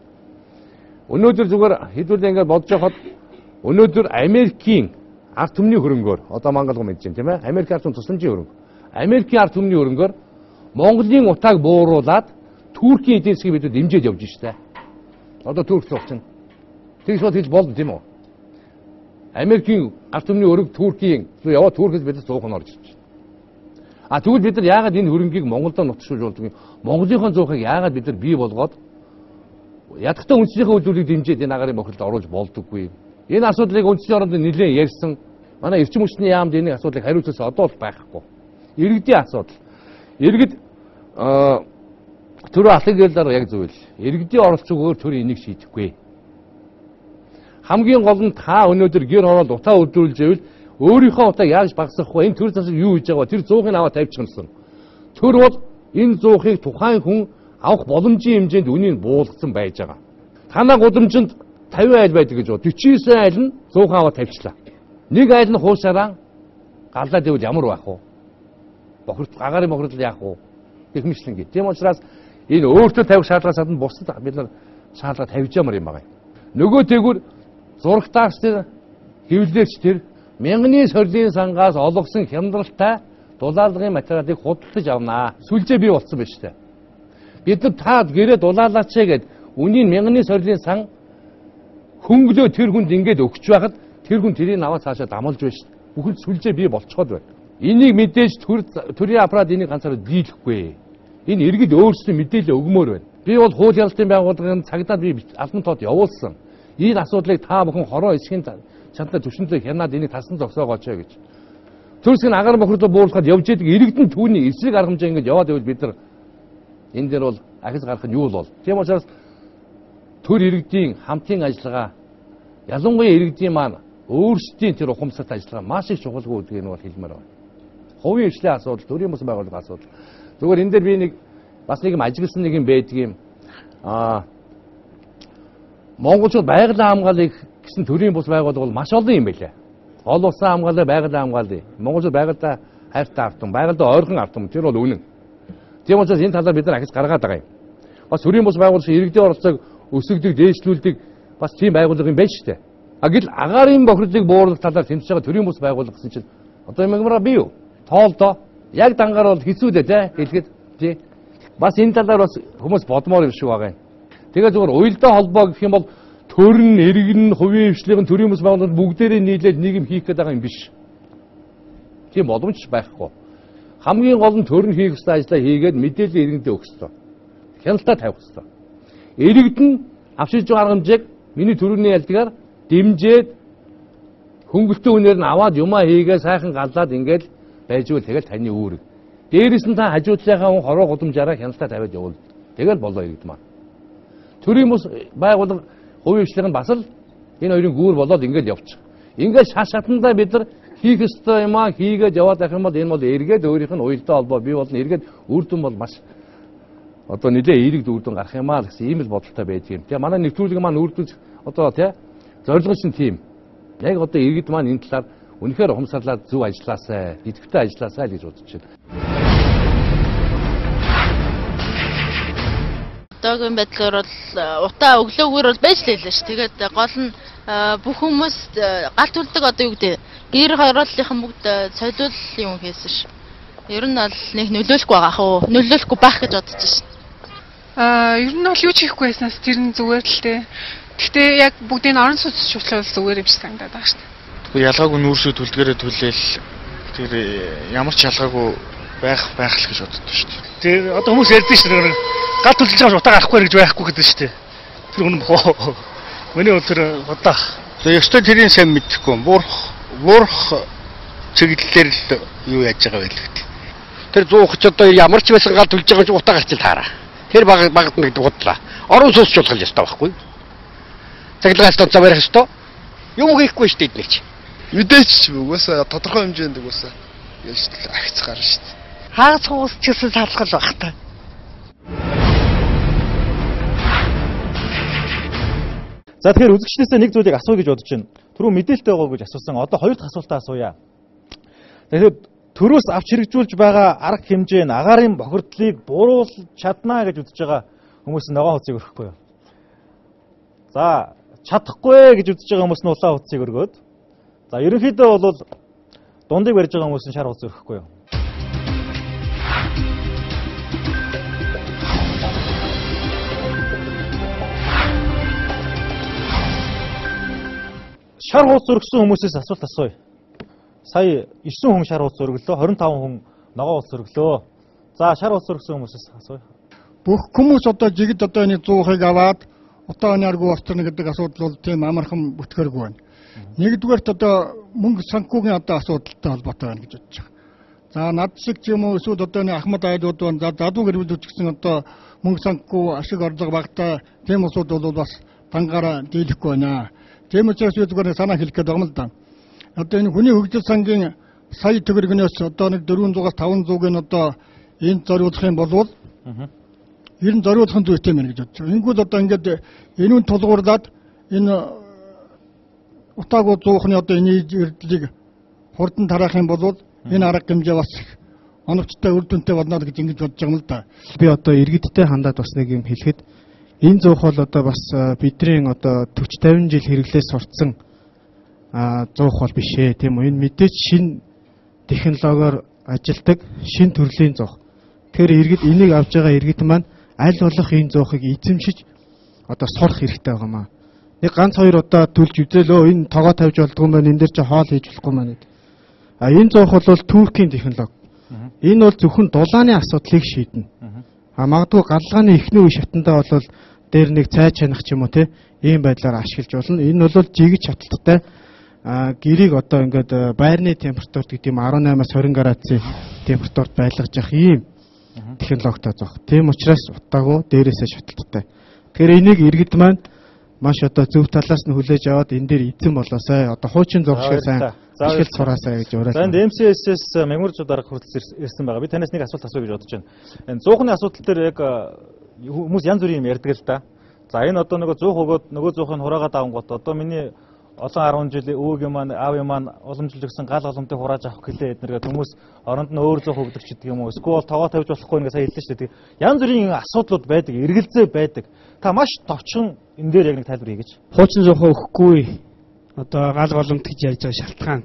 Өнөөдөр зүгээр хэдүүлээ ингээд бодож байхад өнөөдөр Америкийн ард түмний хөрөнгөөр одоо Монголго мэдэж байна тийм ээ. Америк ард түмний тусламжийн хөрөнгө. Америкийн ард түмний хөрөнгөөр Монголын утааг бууруулад Туркийн эдийн засгийг бид дэмжиж явж штэ. Одоо Турк цогцсон. Тэгж бод хэлж болно тийм үү? Америкийн ард түмний хөрөнгө Туркийн яваа Туркээс бид 100 хон орж ирж байна. Тэгвэл бид нар яагаад энэ хөрөнгийг Монголд нутгшуулж болдгийг Монголынхон 100-ыг яагаад бид нар бий болгоод ядахтаа үндэснийхээ үйлдвэрийг дэмжиж энэ агарын бохирдолд оруулж болдоггүй. Энэ асуудлыг үндэсний оронд нэлээд ярьсан. Манай эрчим хүчний яамд энэ асуудлыг хариуцсан одоо л байхгүй. Иргэдийн асуудал. Иргэд төр алхаг гэлээр яг зөв л. Иргэдийн оролцоогоор төр энийг шийдэхгүй. Хамгийн гол нь та өнөөдөр гэр хороолд утаа өдрүүлж ивэл өөрийнхөө утааг яаж багасгахгүй энэ төр засаг юу хийж байгаа тэр 100-ыг аваад тавьчихсан. Төр бол энэ 100-ыг тухайн хүн авах боломжийн хэмжээнд үнийг буулгасан байж байгаа. Танаа гудамжинд 50 айл байдаг гэж бод. 49 айл нь 100 аваад тавьчлаа. Нэг айл нь хуушаараа галаад ивэл ямар байх вэ? Агарын бохирдол яах вэ? Гэх мэтлэн гээ. Тийм учраас энэ өөртөө тавих шаардлагаас гадна бусдад бид нар шаардлага тавьж ямар юм байгаа юм. Нөгөө тэгвэр зурагтаарч тэр хэвлэлч тэр мянганы сорилын сангаас олгосон хямдралтай дулаалгын материалыг худалдаж авнаа. Сүлжээ бий болсон байна шүү дээ. Бид нар таад гэрээ дулаалаач гэд үнийн мянганы сорилын сан хөнгөлөө тэр хүнд ингэж өгч байхад тэр хүн тэрийг аваад цаашаа дамалж байна шүү дээ. Бүхэл сүлжээ бий болцоход байна. Энийг мэдээж төрийн аппарат энийг ганцаараа дийлэхгүй. Энэ иргэд өөрсдөө мэдээлэл өгмөр байна. Би бол хууль ялалтын байгууллагын цагдаад би албан тоод явуулсан. Энэ асуудлыг та бүхэн хороо эсхийн чанар төвшөнтэй хянаад энийг тасан зогсоогооч гэж. Төрсгийн агаар бохирдол бууруулахад явж идэг иргэдэн түүний эсрэг арга хэмжээ ингэж яваад байвал бид нар энэ дээр бол ахис гарах нь юу л бол. Тийм учраас төр иргэдийн хамтын ажиллагаа ялангуяа иргэдийн маань өөрсдийн тэр ухамсарт ажиллагаа маш их чухалгүй гэдгийг нь бол хэлмээр байна. Хувийн хвшлийн асуудал, төрийн бус байгууллагын асуудал. Зүгээр энэ дээр би нэг бас нэг юм ажигласан нэг юм байдаг юм. Монголчууд байгалийн хамгаалыг гэсэн төрийн бус байгууллага бол маш олон юм байлаа. Гол улсын хамгаалал, байгалийн хамгаалал. Монголчууд байгальдаа хайртай автан, байгальдаа ойрхон автан тэр бол үнэн. Тийм учраас энэ талаар бид нар ахиж гаргаад байгаа юм. Бас төрийн бус байгууллагын иргэдийн оролцоог өсгөдөг, дээшлүүлдэг бас тийм байгууллага юм байна шүү дээ. Гэвч агаарын бохирдлыг бууруулах талаар тэмцэж байгаа төрийн бус байгууллага гэсэн чинь одоо юмраа бий юу? Тоолдоо яг дангаар бол хэцүү дээ те хэлэхэд тий. Бас энэ талаар бас хүмүүс бодмоор юм шиг байгаа юм. Тэгээ зөвхөн уялдаа холбоо гэх юм бол төрн, иргэн, хувийн хвшлийн төрийн бус байгууллагууд бүгдээрээ нийлээд нэг юм хийх гээд байгаа юм биш. Тийм боломж байхгүй. Хамгийн гол нь төрн хийх ёстой ажлаа хийгээд мэдээлэл иргэндээ өгөх ёстой. Хяналтаа тавих ёстой. Иргэд нь авчирж байгаа арга хэмжээг миний төрөний ялдгаар дэмжээд хөнгөлтөө үнээр нь аваад юмаа хийгээ сайхан галлаад ингээд байжвал тэгэл таны үүрэг. Дээрээс нь та хажуудлынхаа хүн хороо гудамжаараа хяналтаа тавиад явуул. Тэгэл болоо иргэд маань. Төрийн бус байгууллага хувийн хвшлийн нь бас л энэ хоёрын гүүр болоод ингээд явчих. Ингээд шашаатандаа бид нар хийх ёстой юм аа хийгээд яваад байх юм бол энэ бол эргээд өөрийнх нь уялдаа холбоо бий болно. Эргээд үр дүн бол маш одоо нэлээ эерэг үр дүн гарах юм аа гэсэн ийм л бодолтой байдаг юм. Тэгээ манай нэвтрүүлэг маань үр дүн одоо тий зорилго нь тийм. Яг одоо иргэд маань энэ талаар үнэхээр ухамсарлаад зөв ажилласаа, идэвхтэй ажилласаа л гэж бодож байна. Одоогийн байдлаар бол утаа өглөөгөр бол байж лээ ш. Тэгээд гол нь бүх хүмүүс гал төлдөг одоо юу гэдэг гэр хорооллынхан бүгд цолиул юм хийсэн ш. Ер нь бол нэг нөлөөлөхгүй байгаа хөө. Нөлөөлөхгүй байх гэж бодож ш. Ер нь бол юу ч хийхгүй байснаас тэр нь зүгээр л тээ. Гэхдээ яг бүгдийг орон сууц шуудлал зүгээр юм шиг санагдаад байгаа ш. Ялгаагүй нүүрсүүд төлдгээрээ түлээл тэр ямар ч ялгаагүй байх л гэж боддог шүү дээ. Тэр одоо хүмүүс ярьдэн шүү дээ. Гал төлж байгаа утаа гарахгүй гэж байхгүй гэдэг шүү дээ. Тэр хүн боо. Миний өдөр удаа. Тэгээ ёстой тэрийн сайн мэдэхгүй. Буурах чиглэлээр л юу яаж байгаа вэ гэдэг. Тэр 130 одоо ямар ч байсан гал төлж байгаа ч утаа гарч таараа. Тэр багт нэг удлаа. Орон сууц шуулгах ёстой байхгүй. Цаглагаас тонцоо барих ёстой. Юм хийхгүй шүү дээ нэг ч. Мэдээч угаасаа тодорхой хэмжээнд угаасаа яаж ахиц гарна шүү дээ. Хагас хуус ч гэсэн салгал баг та. За тэгэхээр үзэгчдээсээ нэг зүйлийг асууя гэж бодож байна. Түрүү мэдээлэлтэй байгаа гэж асуусан. Одоо хоёр дахь асуултаа асууя. Тэгэхээр төрөөс авч хэрэгжүүлж байгаа арга хэмжээ нь агаарын бохирдлыг бууруулж чаднаа гэж үзэж байгаа хүмүүс ногоон хуцыг өрөхгүй юу? За чадахгүй гэж үзэж байгаа хүмүүс нь улаан утсыг өргөөд. За ерөнхийдөө бол дундыг барьж байгаа хүмүүс нь шар утас өргөхгүй юу? Шар утас өргөсөн хүмүүсээс асуулт асууя. Сая 9 хүн шар утас өргөлөө, 25 хүн ногоон утас өргөлөө. За шар утас өргөсөн хүмүүсээс асууя. Бүх хүмүүс одоо жигд одоо энэ 100-ыг аваад одоо энерги орчно гэдэг асуудал бол тийм амархан бүтгэргүй байна. Нэгдүгээрт одоо мөнгө санхүүгийн одоо асуудалтай холбоотой байна гэж бодож байгаа. За над шиг ч юм уу эсвэл одоо энэ Ахмад айлууд байна. За задуу гэрүүлүүд ч гэсэн одоо мөнгө санхүү ашиг орлого багтаа тийм асуудал бол бас дангаараа дийлэхгүй байна. Тийм учраас би зүгээр санаа хэлэх гээд байгаа юм л да. Одоо энэ хүний хөгжил сангийн сая төгрөгнөөс одоо нэг 400-аас 500-ыг нь одоо энд зориулах юм бол ер нь зориулах нь зүйтэй мэн гэж бодож байна. Ингүүд одоо ингээд энүүн тулгуурлаад энэ утаагүй зуухны одоо энэ эрдлийг хурдан тараах юм бол энэ арга хэмжээ бас оновчтой үр дүнтэй болно гэж ингэж бодож байгаа юм л да. Би одоо иргэдтэй хандаад бас нэг юм хэлэхэд энэ зуух бол одоо бас бидний одоо 40-50 жил хэрэглээс сурцсан зуух бол биш ээ тийм үү. Энэ мэдээж шинэ технологиор ажилдаг шинэ төрлийн зуух. Тэгэхээр иргэд энийг авж байгаа иргэд маань аль болох энэ зуухыг эзэмшиж одоо сурах хэрэгтэй байгаа маа. Нэг ганц хоёр удаа төлж үзээлөө энэ тогоо тавьж болдгоо маань энэ дээр чи хоол хийж болохгүй маань. Энэ зуух бол Туркийн технологи. Энэ бол зөвхөн дулааны асуудлыг шийднэ. Магадгүй галлгааны эхний үе шатндаа бол дээр нэг цай чанах ч юм уу те ийм байдлаар ашиглаж болно. Энэ бол жигэж хаталттай гэрийг одоо ингээд байрны температурт гэдэг юм 18-аас 20 градусын температурт байлгаж явах ийм технологитой зоох. Тийм учраас утаагүй дээрээсээ шаталттай. Тэгэхээр энийг иргэд маань маш одоо зөв талаас нь хүлээж аваад энэ дээр эзэн болоосай. Одоо хуучин зураг шиг сайн ашиглаж сураасай гэж уриалсан. За энэ MCS-с меморжууд дарга хүртэл ирсэн байгаа. Би танаас нэг асуулт асууя гэж бодож байна. Энэ 100-ны асуудал дээр яг хүмүүс янз бүрийн юм ярьдаг л да. За энэ одоо нөгөө 100 өгөөд нөгөө 100-ыг хураагаад авангууд одоо миний олон 10 жилийн өвөг маань аав маань уламжлж өгсөн гал голомтыг хурааж авах гэлээ эднэргээ хүмүүс оронд нь өөр зөх өгдөг ч гэдэг юм уу. Эсвэл тогоо тавьж болохгүй ингээ сайн хэллээ шүү дээ. Янз бүрийн асуудлууд байдаг, эргэлзээ байдаг. Та маш товчхон энэ дээр яг нэг тайлбар хийгээч. Хуучин зохио өгөхгүй. Одоо гал голомт гэж ярьж байгаа шалтгаан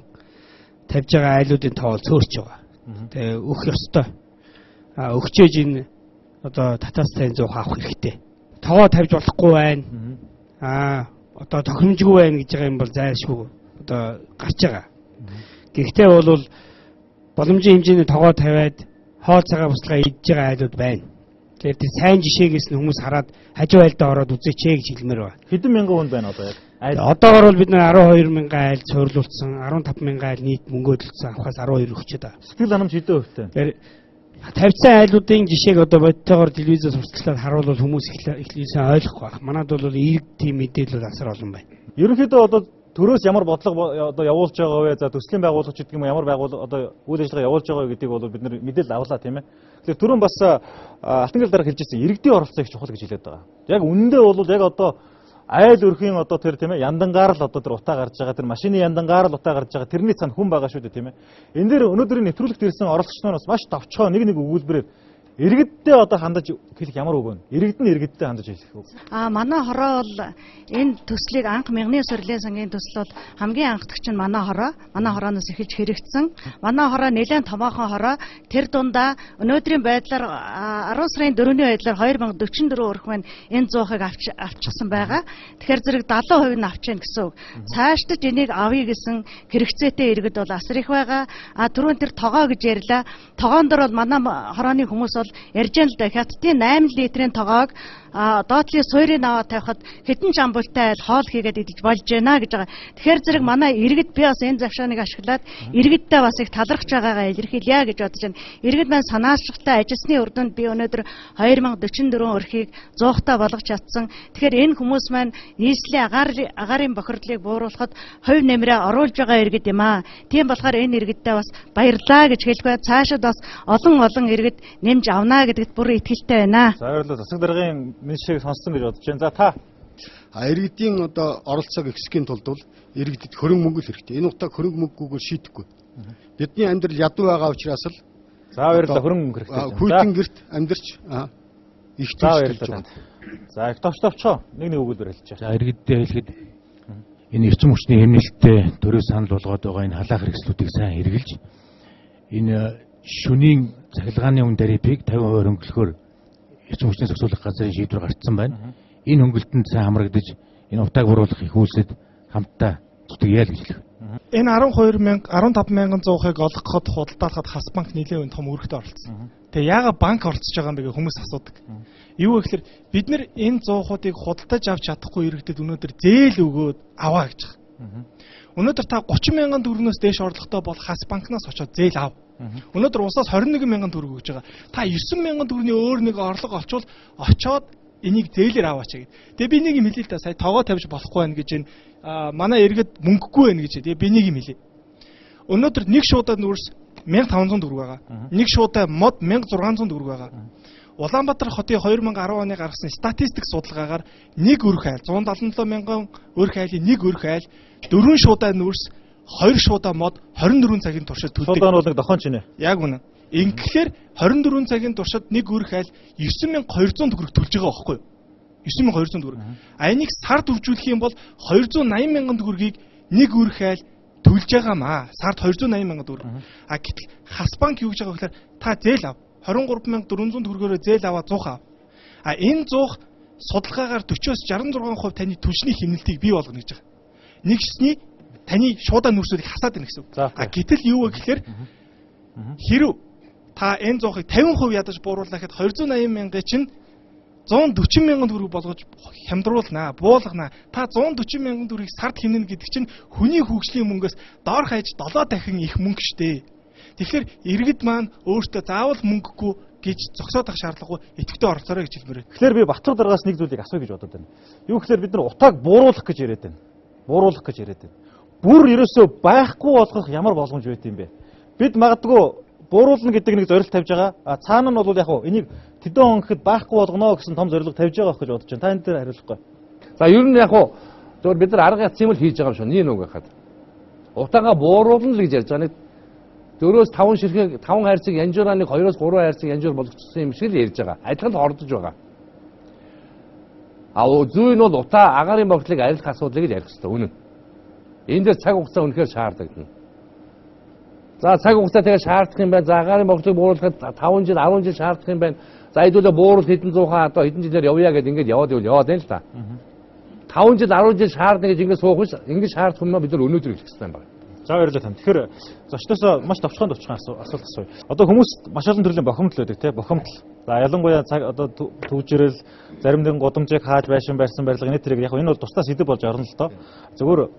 тавьж байгаа айлуудын тоол цөөрч байгаа. Тэгээ өгөх ёстой. Өгчээж энэ одоо татаас сайн зуух авах хэрэгтэй. Тогоо тавьж болохгүй байна. Одоо тохиромжгүй байна гэж байгаа юм бол зайлшгүй одоо гарч байгаа. Гэхдээ бол боломжийн хэмжээний тогоо тавиад хоол цагаан буслага идж байгаа айлууд байна. Тэгэхээр тийм сайн жишээгээс нь хүмүүс хараад хажуу айлдаа ороод үзээч гэж хэлмээр байна. Хэдэн мянган хүн байна одоо яг? Одоогор бол бид нар 12 мянган айл цуурлуулсан, 15 мянган айл нийт мөнгө төлсөн авахаас 12 өгчөөд байгаа. Сэтгэл ханамж хэдэн хувьтай? Тавьсан айлуудын жишээг одоо бодтойгоор телевизээр сурталчлаад харуулвал хүмүүс ихлээсэн ойлгохгүй байна. Манайд бол ийм тийм мэдээлэл асар олон байна. Ерөнхийдөө одоо төрөөс ямар бодлого одоо явуулж байгаа вэ? За төслийн байгууллагч гэдэг юм ямар байгууллага одоо үйл ажиллагаа явуулж байгаа вэ гэдгийг бол бид нэр мэдээлэл авлаа тийм ээ. Тэгэхээр түрүүн бас Алтангал дарга хэлж ирсэн иргэдийн оролцоо их чухал гэж хэлээд байгаа. Яг үнэндээ бол яг одоо айл өрхийн одоо тэр тийм ээ яндангаар л одоо тэр утаа гарч байгаа тэр машины яндангаар л утаа гарч байгаа тэрний цаана хүн байгаа шүү дээ тийм ээ. Энэ дээр өнөөдрийн нэвтрүүлэгт ирсэн оролцогчдоос маш товчхон нэг өгүүлбэрээр иргэдтэй одоо хандаж хэлэх ямар үг вэ? Иргэд нь иргэдтэй хандаж хэлэх үг. Манай хороо бол энэ төслийг анх Мянганы сорилын сангийн төсөл бол хамгийн анхдагч нь манай хороо. Манай хорооноос эхэлж хэрэгжсэн. Манай хороо нэлээд томоохон хороо. Тэр дундаа өнөөдрийн байдлаар 10 сарын 4-ний байдлаар 2044 өрх маань энэ 100-ыг авчихсан байгаа. Тэгэхээр зэрэг 70% нь авчихна гэсэн үг. Цаашдаж энийг авъя гэсэн хэрэгцээтэй иргэд бол асар их байгаа. Түрүүн тэр тогоо гэж ярьлаа. Тогоон дээр бол манай хорооны хүмүүс бол ярьж байгаа л да хятадын 8 литрийн тоогоог доотлын суурийг аваад тавихад хэдэн ч амбултай айл хоол хийгээд идэж болж байна гэж байгаа. Тэгэхээр зэрэг манай иргэд би бас энэ завшааныг ашиглаад иргэдтэй бас их талархж байгаагаа илэрхийлье гэж бодож байна. Иргэд маань санаачлагтай ажилсны үр дүнд би өнөөдөр 2044 өрхийг 100-таа болгож чадсан. Тэгэхээр энэ хүмүүс маань нийслэлийн агаарын бохирдлыг бууруулахад хувь нэмрээ оруулж байгаа иргэд юм аа. Тийм болохоор энэ иргэдтэй бас баярлалаа гэж хэлэх бай. Цаашид бас олон иргэд нэмж авнаа гэдэгт бүр итгэлтэй байна. За баярлалаа. Засаг даргын меншийг сонссон гэж бодож байна. За та иргэдийн одоо оролцоог ихсхийн тулд бол иргэдэд хөрөнгө мөнгө хэрэгтэй. Энэ утгааг хөрөнгө мөнгөгөөр шийдэхгүй. Бидний амьдрал ядуу байгаа учраас л за баярлалаа хөрөнгө мөнгө хэрэгтэй. Хүйтэн гэрт амьдарч их за баярлалаа. За их товчоо нэг өгүүлбэр хэлж байгаа. За иргэддээ хэлэхэд энэ эрчим хүчний хэмнэлттэй төрөө санал болгоод байгаа энэ халаах хэрэгслүүдийг сайн хэрэгжилж энэ шөнийн цахилгааны үн тарифыг 50% хөнгөлөхөөр эрчим хүчний зохицуулах газрын шийдвэр гарцсан байна. Энэ хөнгөлтөнд сайн хамрагдаж энэ утааг буруулах их үйлсэд хамтдаа зүтгэе л гэж хэлэх. Энэ 15,100-ыг олгоход худалдаалахад Хас банк нэлээд том үүрэгтэй оролцсон. Тэгээ яагаад банк оролцож байгаа юм бэ гэж хүмүүс асуудаг. Юу вэ гэхээр бид нар энэ 100%-ыг худалдаж авч чадахгүй иргэдэд өнөөдөр зээл өгөөд аваа гэж байгаа. Өнөөдөр та 30,000 төгрөгнөөс дээш орлоготой бол Хас банкнаас очоод зээл ав. Өнөөдөр усаас 21,000 төгрөг өгж байгаа. Та 9,000 төгрөгийн өөр нэг орлого олчвол очоод энийг зээлээр аваач гэдэг. Тэгээ би нэг юм хэлээ л да, сая тоогоо тавьж болохгүй байх гэж энэ манай иргэд мөнгөгүй байх гэж. Тэгээ би нэг юм хэлээ. Өнөөдөр нэг шуудаа нүүрс 1,500 төгрөг байгаа. Нэг шуудаа мод 1,600 төгрөг байгаа. Улаанбаатар хотын 2010 оны гаргасан статистик судалгаагаар нэг өрх айл 177 мянган өрх айлын нэг өрх айл 4 шуудаа нүүрс 2 шуудаа мод 24 цагийн туршид төлдөг. Шуудаа нь бол нэг дохон ч нэ. Яг үнэ. Ингээр 24 цагийн туршид нэг өрх айл 9,200 төгрөг төлж байгаа байхгүй юу? 9,200 төгрөг. А энийг сард үржүүлэх юм бол 280 мянган төгрөгийг нэг өрх айл төлж байгаамаа. Сард 280 мянган төгрөг. А гэтэл Хас банк юу гэж байгаа вэ гэхээр та зээл ав. 23,400 төгрөгөөр зээл аваад 100 ав. А энэ 100 судалгаагаар 40-оос 66% таны түлшний хэмнэлтийг бий болгоно гэж байгаа. Нэгсний таны шуудаа нүүрсүүдийг хасаад байна гэсэн үг. А гэтэл юу вэ гэхээр хэрв та энэ 100-ыг 50% ядаж бууруулах гэхэд 280 мянган чинь 140 мянган төгрөг болгож хямдруулнаа, буулгана. Та 140 мянган төгрөгийг сард хэмнэнэ гэдэг чинь хүний хөгжлийн мөнгөөс доор хаяж 7 дахин их мөнгө штэ. Тэгэхээр иргэд маань өөртөө заавал мөнгөгүй гэж зогсоод ах шаардлагагүй идэвхтэй оролцоорой гэж хэлмээр. Тэгэхээр би Батбар дараагаас нэг зүйлийг асууя гэж бодод байна. Юу гэхээр бид нар утааг бууруулах гэж яриад байна. Бууруулах гэж яриад байна. Бүр ерөөсөө байхгүй болгох ямар боломж байт юм бэ? Бид магадгүй бууруулна гэдэг нэг зорилт тавьж байгаа. А цаана нь бол яг хуу энийг тэдэн он гэхэд байхгүй болгоно гэсэн том зорилго тавьж байгаа гэж бодож байна. Та энэ дээр хариулахгүй. За ер нь яг хуу зөвхөн бид нар арга яцсан юм л хийж байгаа юм шүү. Нэг үг хахад. Утаагаа бууруулна л гэж ярьж байгаа. Нэг 4-5 ширхэг 5 хайрцаг янжуураа нэг 2-3 хайрцаг янжуур болгочихсон юм шиг л ярьж байгаа. Адилхан хордож байгаа. А зүй нь бол утаа агаарын богдлыг арилах асуудлыг л ярих хэрэгтэй. Үнэн. Энэ дээр цаг хугацаа үнэхээр шаардлагатай. За цаг хугацаа тэгээ шаардах юм байна. За агаарын богдлыг бууруулахад 5 жил 10 жил шаардах юм байна. За хэдүүлээ бууруул хэдэн зуухаа одоо хэдэн жилээр явъя гэдээ ингээд яваад байна л та. 5 жил 10 жил шаардна гэж ингээд суух биш. Ингээд шаардах юм бид нар өнөөдөр хэлэх хэрэгтэй юм байна. За баярлалаа тань. Тэгэхээр зочдоосоо маш товчхон асуулт асууя. Одоо хүмүүс маш олон төрлийн бохомдол байдаг тийм бохомдол. За ялангуяа цаг одоо төвжирэл зарим нэгэн гудамжийг хааж байшин барьсан барилга энэ төрөйг яг энэ бол тусдаа сэдв болж орно л доо. Зөвхөн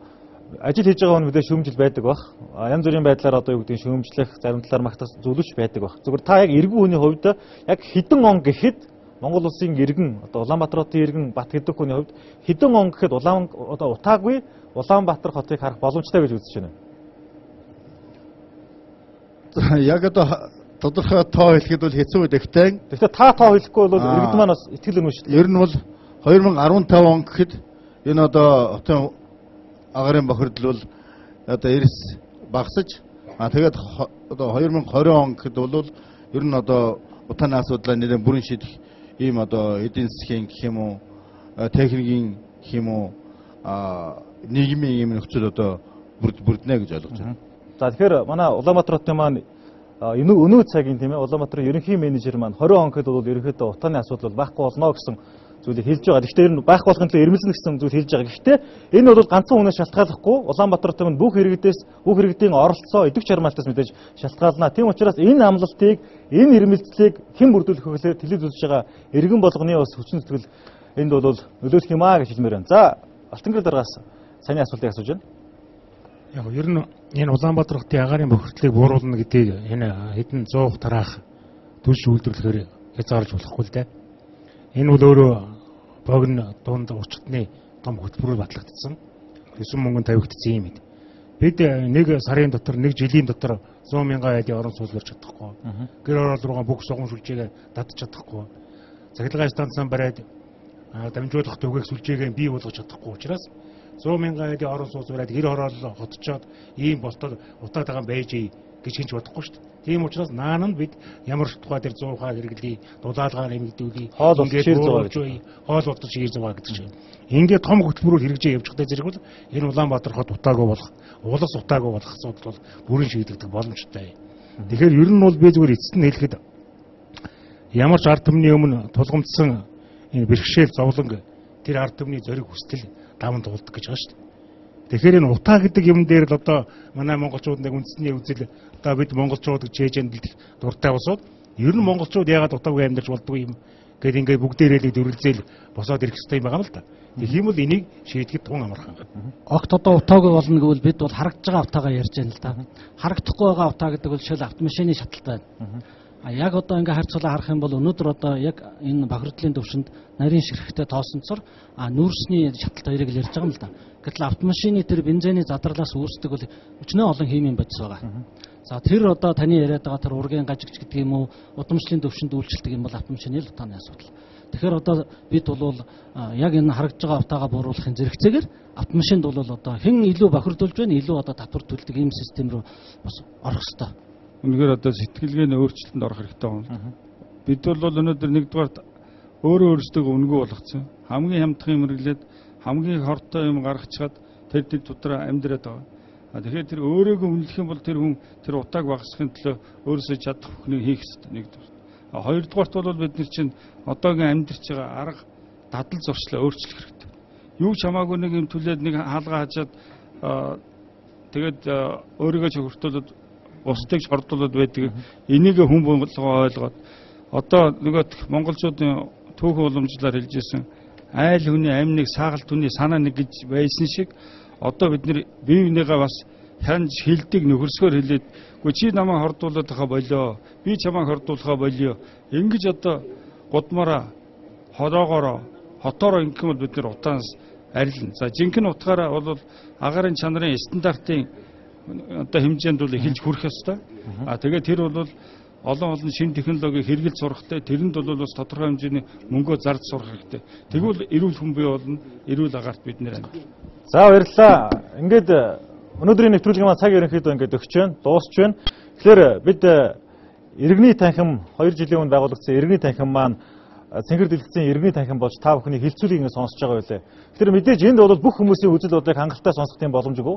ажил хийж байгаа хүн мэдээ шүүмжил байдаг бах. Янз бүрийн байдлаар одоо юу гэдэг шүүмжлэх зарим талаар магтах зүйлүүч байдаг бах. Зөвхөн та яг иргэн хүний хувьд яг хэдэн он гэхэд Монгол улсын иргэн одоо Улаанбаатар хотын иргэн Бат гэдэг хүний хувьд хэдэн он гэхэд одоо утаагүй Улаанбаатар хотыг харах боломжтой гэж үзэж байна. Яг одоо тодорхой тоо хэлэхэд бол хэцүү дэхтэй. Гэхдээ та тоо хэлэхгүй бол иргэд маань бас итгэл өнөө шүү дээ. Ер нь бол 2015 он гэхэд энэ одоо хотын агаарын бохирдол бол одоо эрс багасж тэгээд одоо 2020 он гэхэд бол ер нь одоо утааны асуудлаа нэлээд бүрэн шийдэх ийм одоо эдийн засгийн гэх юм уу техникийн гэх юм уу нийгмийн ийм нөхцөл одоо бүрднэ гэж ойлгож байна. За тэгэхээр манай Улаанбаатар хотын маань өнөө цагийн тийм ээ Улаанбаатарын ерөнхий менежер маань 20 он гэхэд бол ерөнхийдөө утааны асуудал байхгүй болно гэсэн зүйлийг хэлж байгаа. Гэхдээ энэ байх болгон төлөө ирмэлзэн гэсэн зүйл хэлж байгаа. Гэхдээ энэ бол ганцхан хүнээс шалтгааллахгүй Улаанбаатар хотын бүх иргэдийн оролцоо идэвх чармаалтаас мэдээж шалтгаална. Тийм учраас энэ амлалтыг энэ ирмэлзлийг хэн бүрдүүлэх вэ гэхээр телевиз үзэж байгаа иргэн болгоны бас хүчин зүтгэл энд бол нөлөөлөх юм аа гэж хэлмээр байна. За Алтангэр дараагаас саний асуултыг асууж байна. Яг ер нь энэ Улаанбаатар хотын агаарын бохирдлыг бууруулна гэдгийг энэ хэдэн 100 тараах төлш үйлдвэрлэхээр хязгаарлаж болохгүй л дээ. Энэ бол өөрөө богино дунд урчтны том хөтөлбөрөөр батлагдсан. Өсөн мөнгөнд тавигдсан юм. Бид нэг сарын дотор нэг жилийн дотор 100 мянган айлын орон сууц барьж чадахгүй. Гэр орол руугаа бүх суган сүлжээгээ дадж чадахгүй. Цахилгаан станцсан бариад дамжуулах төгөөх сүлжээгээ бий болгож чадахгүй учраас 100 мянган айлын орон сууц бариад гэр орол хотчоод ийм болтол утаатайгаан байж гэж хинж бодохгүй шүү дээ. Тийм учраас наан нь бид ямар тухай дээр 100 ухаа хэрэглэе, дулаалгаа нэмэгдүүлээ, хоол болчих хоол болчих шийр зугаа гэдэг чинь. Ингээд том хөтөлбөрөөр хэрэгжиж явж байгаа зэрэг бол энэ Улаанбаатар хот утаагүй болох, улс утаагүй болох асуудал бол бүрэн шийдэгдэх боломжтой. Тэгэхээр ер нь бол би зүгээр эцэст нь хэлэхэд ямар ч ард түмний өмнө тулгамдсан энэ бэрхшээл зовлон тэр ард түмний зориг хүсэл даван туулдаг гэж байгаа шүү дээ. Тэгэхээр энэ утаа гэдэг юм дээр л одоо манай монголчууд нэг үндэсний үзэл одоо бид монголчууд гэж чэйжэнд бэлдэх дуртай болсод ер нь монголчууд яагаад утаагүй амьдарч болдгоо юм гэд ингээд бүгдээрээ л дүрлзээл босоод ирэх хэрэгтэй юм байгаа юм л да. Тэгэх юм бол энийг шийдэхэд тун амархан. Огт одоо утаагүй болно гэвэл бид бол харагдж байгаа утаагаа ярьж байна л да. Харагдахгүй байгаа утаа гэдэг бол шил автомашины шаталтай байна. Яг одоо ингээ харьцуулаа харах юм бол өнөөдөр одоо яг энэ бохирдлын төвшөнд нарийн ширхэгтэй тоосонцор нүүрсний шаталт хоёрыг л ярьж байгаа юм л да. Гэтэл автомашины тэр бензиний задралаас үүсдэг бол өчнөө олон химийн бодис байгаа. За тэр одоо таны яриад байгаа тэр ургийн гажигч гэдэг юм уу, удамшлын төвшөнд үйлчлдэг юм бол автомашины л утааны асуудал. Тэгэхээр одоо бид бол яг энэ харагдж байгаа утаагаа бууруулахын зэрэгцээгээр автомашинд бол одоо хэн илүү бохирдуулж байна, илүү одоо татвар төлдөг ийм систем рүү бас орох хэрэгтэй. Үнэхээр одоо сэтгэлгээний өөрчлөлтөнд орох хэрэгтэй байна. Бид бол өнөөдөр нэгдүгээр өөрөө өөрсдөө өнгөө болгоцсон. Хамгийн хямдхан юм хэрэглээд хамгийн хортой юм гаргачаад тэр дотроо амьдраад байгаа. Тэгэхээр тэр өөрөөгөө үнэлэх юм бол тэр хүн тэр утааг багасгахын төлөө өөрөөсөө чадах бүхнийг хийх хэрэгтэй нэгдүгээр. Хоёрдугаарт бол бид нар чинь одоогийн амьдарч байгаа арга дадал зуршлаа өөрчлөх хэрэгтэй. Юу ч хамаагүй нэг юм түлээд нэг хаалгаа хажаад тэгээд өөрийгөө ч хөртөлөд устдыг шордуулаад байдаг. Энийг хүн болгоо ойлгоод одоо нөгөө монголчуудын түүхэн уламжлалаар хэлжсэн айл хүний амьныг саагалт хүний санаа нэг гэж байсан шиг одоо бид нэр бие бинийгээ бас хянж хилдэг нөхөрсгөр хэлээд үгүй чи намайг хордуулаад байгаа болоо би чамайг хордуулахаа болио ингэж одоо гудмаараа хороогоороо хотоороо ингэх юм бол бид нэр утаанаас арилна. За жинхэнэ утгаараа бол агаарын чанарын стандартын одоо хэмжээнд бол эхэлж хүрэх ёстой. Тэгээд тэр бол олон шинэ технологиг хэрэгэлж сурахтай, тэрэнд бол бас тодорхой хэмжээний мөнгөө зарж сурах хэрэгтэй. Тэгвэл эрүүл хүн бий болно, эрүүл агаарт бид нэр амьд. За баярлалаа. Ингээд өнөөдрийн нэвтрүүлгийн маань цаг ерөнхийдөө ингээд өгч байна, дуусч байна. Тэгэхээр бид иргэний танхим 2 жилийн өмнө байгуулагдсан иргэний танхим маань цэнхэр дэлгэцийн иргэний танхим болж та бүхний хилцүүлгийг ингээд сонсож байгаа байлээ. Тэгэхээр мэдээж энд бол бүх хүмүүсийн үзэл бодлыг хангалттай сонсох тийм боломжгүй.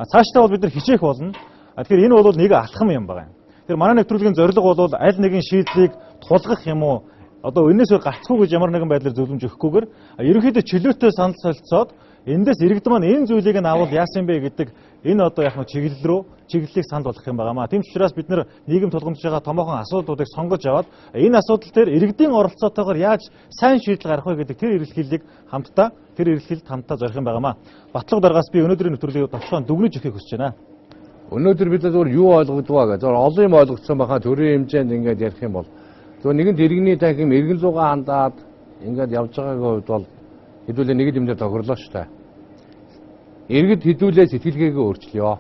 Цаашдаа бол бид нар хичээх болно. Тэгэхээр энэ бол нэг алхам юм байна. Тэгэхээр манай нэвтрүүлгийн зорилго бол аль нэгэн шийдлийг тулгах юм уу? Одоо энэс гацхгүй гэж ямар нэгэн байдлаар зөвлөмж өгөхгүйгээр ерөнхийдөө чөлөөтэй санал солилцоод эндээс иргэд маань энэ зүйлийг нь авал яасан бэ гэдэг энэ одоо яг нэг чиглэлийг санал болгох юм байнамаа. Тийм ч учраас бид нар нийгэм тулгамдж байгаа томоохон асуудлуудыг сонгож аваад энэ асуудал дээр иргэдийн оролцоотойгоор яаж сайн шийдэл гаргах вэ гэдэг тэр эрэлхийллийг хамтдаа зорих юм байнамаа. Батлага даргаас би өнөөдрийн нэвтрүүлгийг товчхон дүгнэж өгөхийг хүсэж байна. Өнөөдөр бид зөвхөн юу ойлгодгоо гэж олон юм ойлгоцсон байхаа төрийн хэмжээнд ингээд ярих юм бол зөвхөн нэгэн иргэний танхим иргэн зугаа хандаад ингээд явж байгаагийн хувьд бол хэдүүлээ нэг юм дээр тохирлоо шүү дээ. Иргэд хэдүүлээ сэтгэлгээгээ өөрчлөё.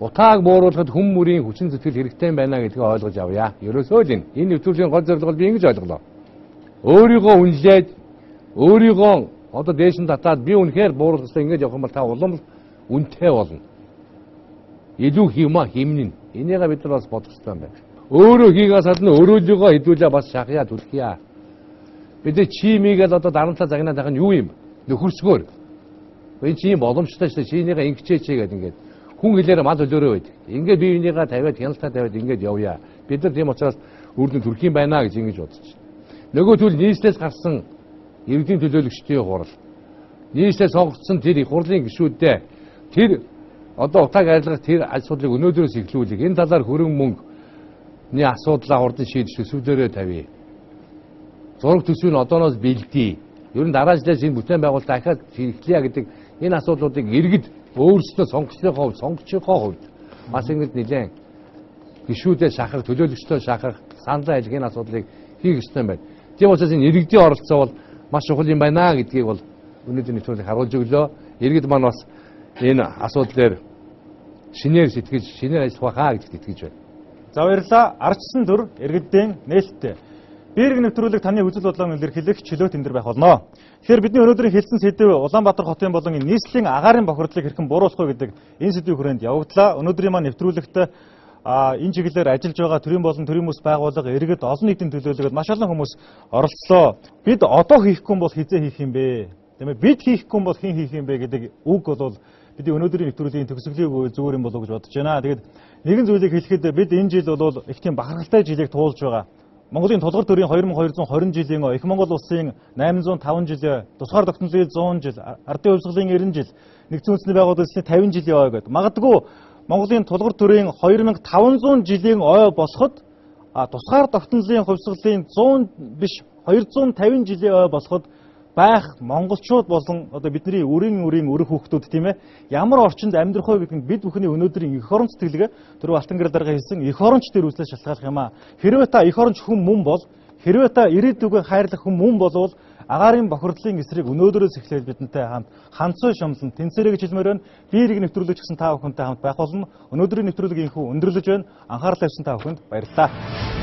Утааг бууруулахад хүн мөрийн хүчин зүтгэл хэрэгтэй байна гэдгийг ойлгож авъя. Ерөөсөө л энэ нэвтрүүлгийн гол зорилго би ингэж ойлголоо. Өөрийгөө үнэлээд өөрийгөө одоо дээш нь татаад би үнэхээр бууруулах гэсэн ингэж явах юм бол та улам үнэтэй болно. Илүү химнэн. Энийгээ бид нар бас бодох хэрэгтэй байна. Өөрөө хийгээс гадна өөрөөлийгөө хэдүүлээ бас шахъя түлхийа. Бид чимигээл одоо дарамтлаа загнаад байгаа нь юу юм? Нөхөрсгөр. Энэ чим боломжтой шүү дээ. Чинийгээ ингэчээч гэдэг ингээд хүн хэлээр мал өлөөрөө байдаг. Ингээд бие бинийгээ тавиад хяналтаа тавиад ингээд явъя. Бид нар тийм учраас үрдэн төрхийн байна гэж ингэж бодож байна. Нөгөө түл нийслэлээс гарсан иргэдийн төлөөлөгчдийн хурал. Нийслэлээс сонгогдсон тэр их хурлын гишүүдээ тэр одоо утааг арилгах тэр асуудлыг өнөөдрөөс эхлүүлэх. Энэ талаар хөрөнгө мөнгөний асуудлаа урдын шийдэж төсвөлөөрөө тавья. Зураг төсвийг одооноос бэлдээ. Ер нь дараа жилээс энэ бүтээн байгуулалт дахиад хэрэглэе гэдэг энэ асуудлуудыг иргэд өөрсдөө сонгогчийнхоо хувьд бас ингэж нэлээд гишүүдээ шахах, төлөөлөгчдөө шахах, саналаа хэлэх энэ асуудлыг хийх ёстой байна. Тийм учраас энэ иргэдийн оролцоо бол маш чухал юм байна гэдгийг бол өнөөдрийн нэвтрүүлгийг харуулж өглөө. Иргэд маань бас энэ асуудлаар шинээр сэтгэж, шинээр ажиллах байхаа гэдэгт итгэж байна. За баярлалаа. Ардчсан төр иргэдийн нээлттэй. Би иргэн нэвтрүүлэг таны үзэл бодлогыг илэрхийлэх чөлөөт энэ төр байх болно. Тэгэхээр бидний өнөөдрийн хэлсэн сэдэв Улаанбаатар хотын болон нийслэлийн агаарын бохирдлыг хэрхэн бууруулах вэ гэдэг энэ сэдвийн хүрээнд явагдлаа. Өнөөдрийн маань нэвтрүүлэгт энэ чиглэлээр ажиллаж байгаа төрийн болон төрийн хүмүүс байгууллага иргэд олон нийтийн төлөөлөгөд маш олон хүмүүс оролцлоо. Бид одоо хийхгүй бол хизээ хийх юм бэ? Тиймээ бид хийхгүй бол хэн хийх юм бэ гэдэг үг бол бидний өнөөдрийн нэвтрүүлгийн төгсгөлийн зүгээр юм болов уу гэж бодож байна. Тэгээд нэгэн зүйлийг хэлэхэд бид энэ жил бол их тийм бахархалтай жилийг туулж байгаа. Монголын тулгар төрийн 2220 жилийн их Монгол улсын 805 жил, тусгаар тогтнолын 100 жил, ардын хувьсгалын 90 жил, нэгдсэн үндэсний байгууллагын 50 жилийн ой гэдэг. Магадгүй Монголын тулгар төрийн 2500 жилийн ой босоход тусгаар тогтнолын хувьсгалын 100 биш 250 жилийн ой босоход байх монголчууд болон одоо бидний өрийн өрх хүүхдүүд тийм ээ ямар орчинд амьдрах вэ гэдэг нь бид бүхний өнөөдрийн эх орон сэтгэлгээ түрүү Алтан гэрэл дарга хэлсэн эх оронч дээр үслэж шалтгааллах юм аа. Хэрвээ та эх оронч хүн мөн бол хэрвээ та ирээдүгөө хайрлах хүн мөн болвол агаарын бохирдлын эсрэг өнөөдрөөс эхлээд бидэнтэй хамт ханцуу шомлон тэнцээрэй гэж хэлмээр байна. Би ирэг нэвтрүүлэгч гэсэн та бүхэнтэй хамт байх болно. Өнөөдрийн нэвтрүүлэг инхүү өндөрлөж байна. Анхаарал тавьсан та бүхэнд баярлалаа.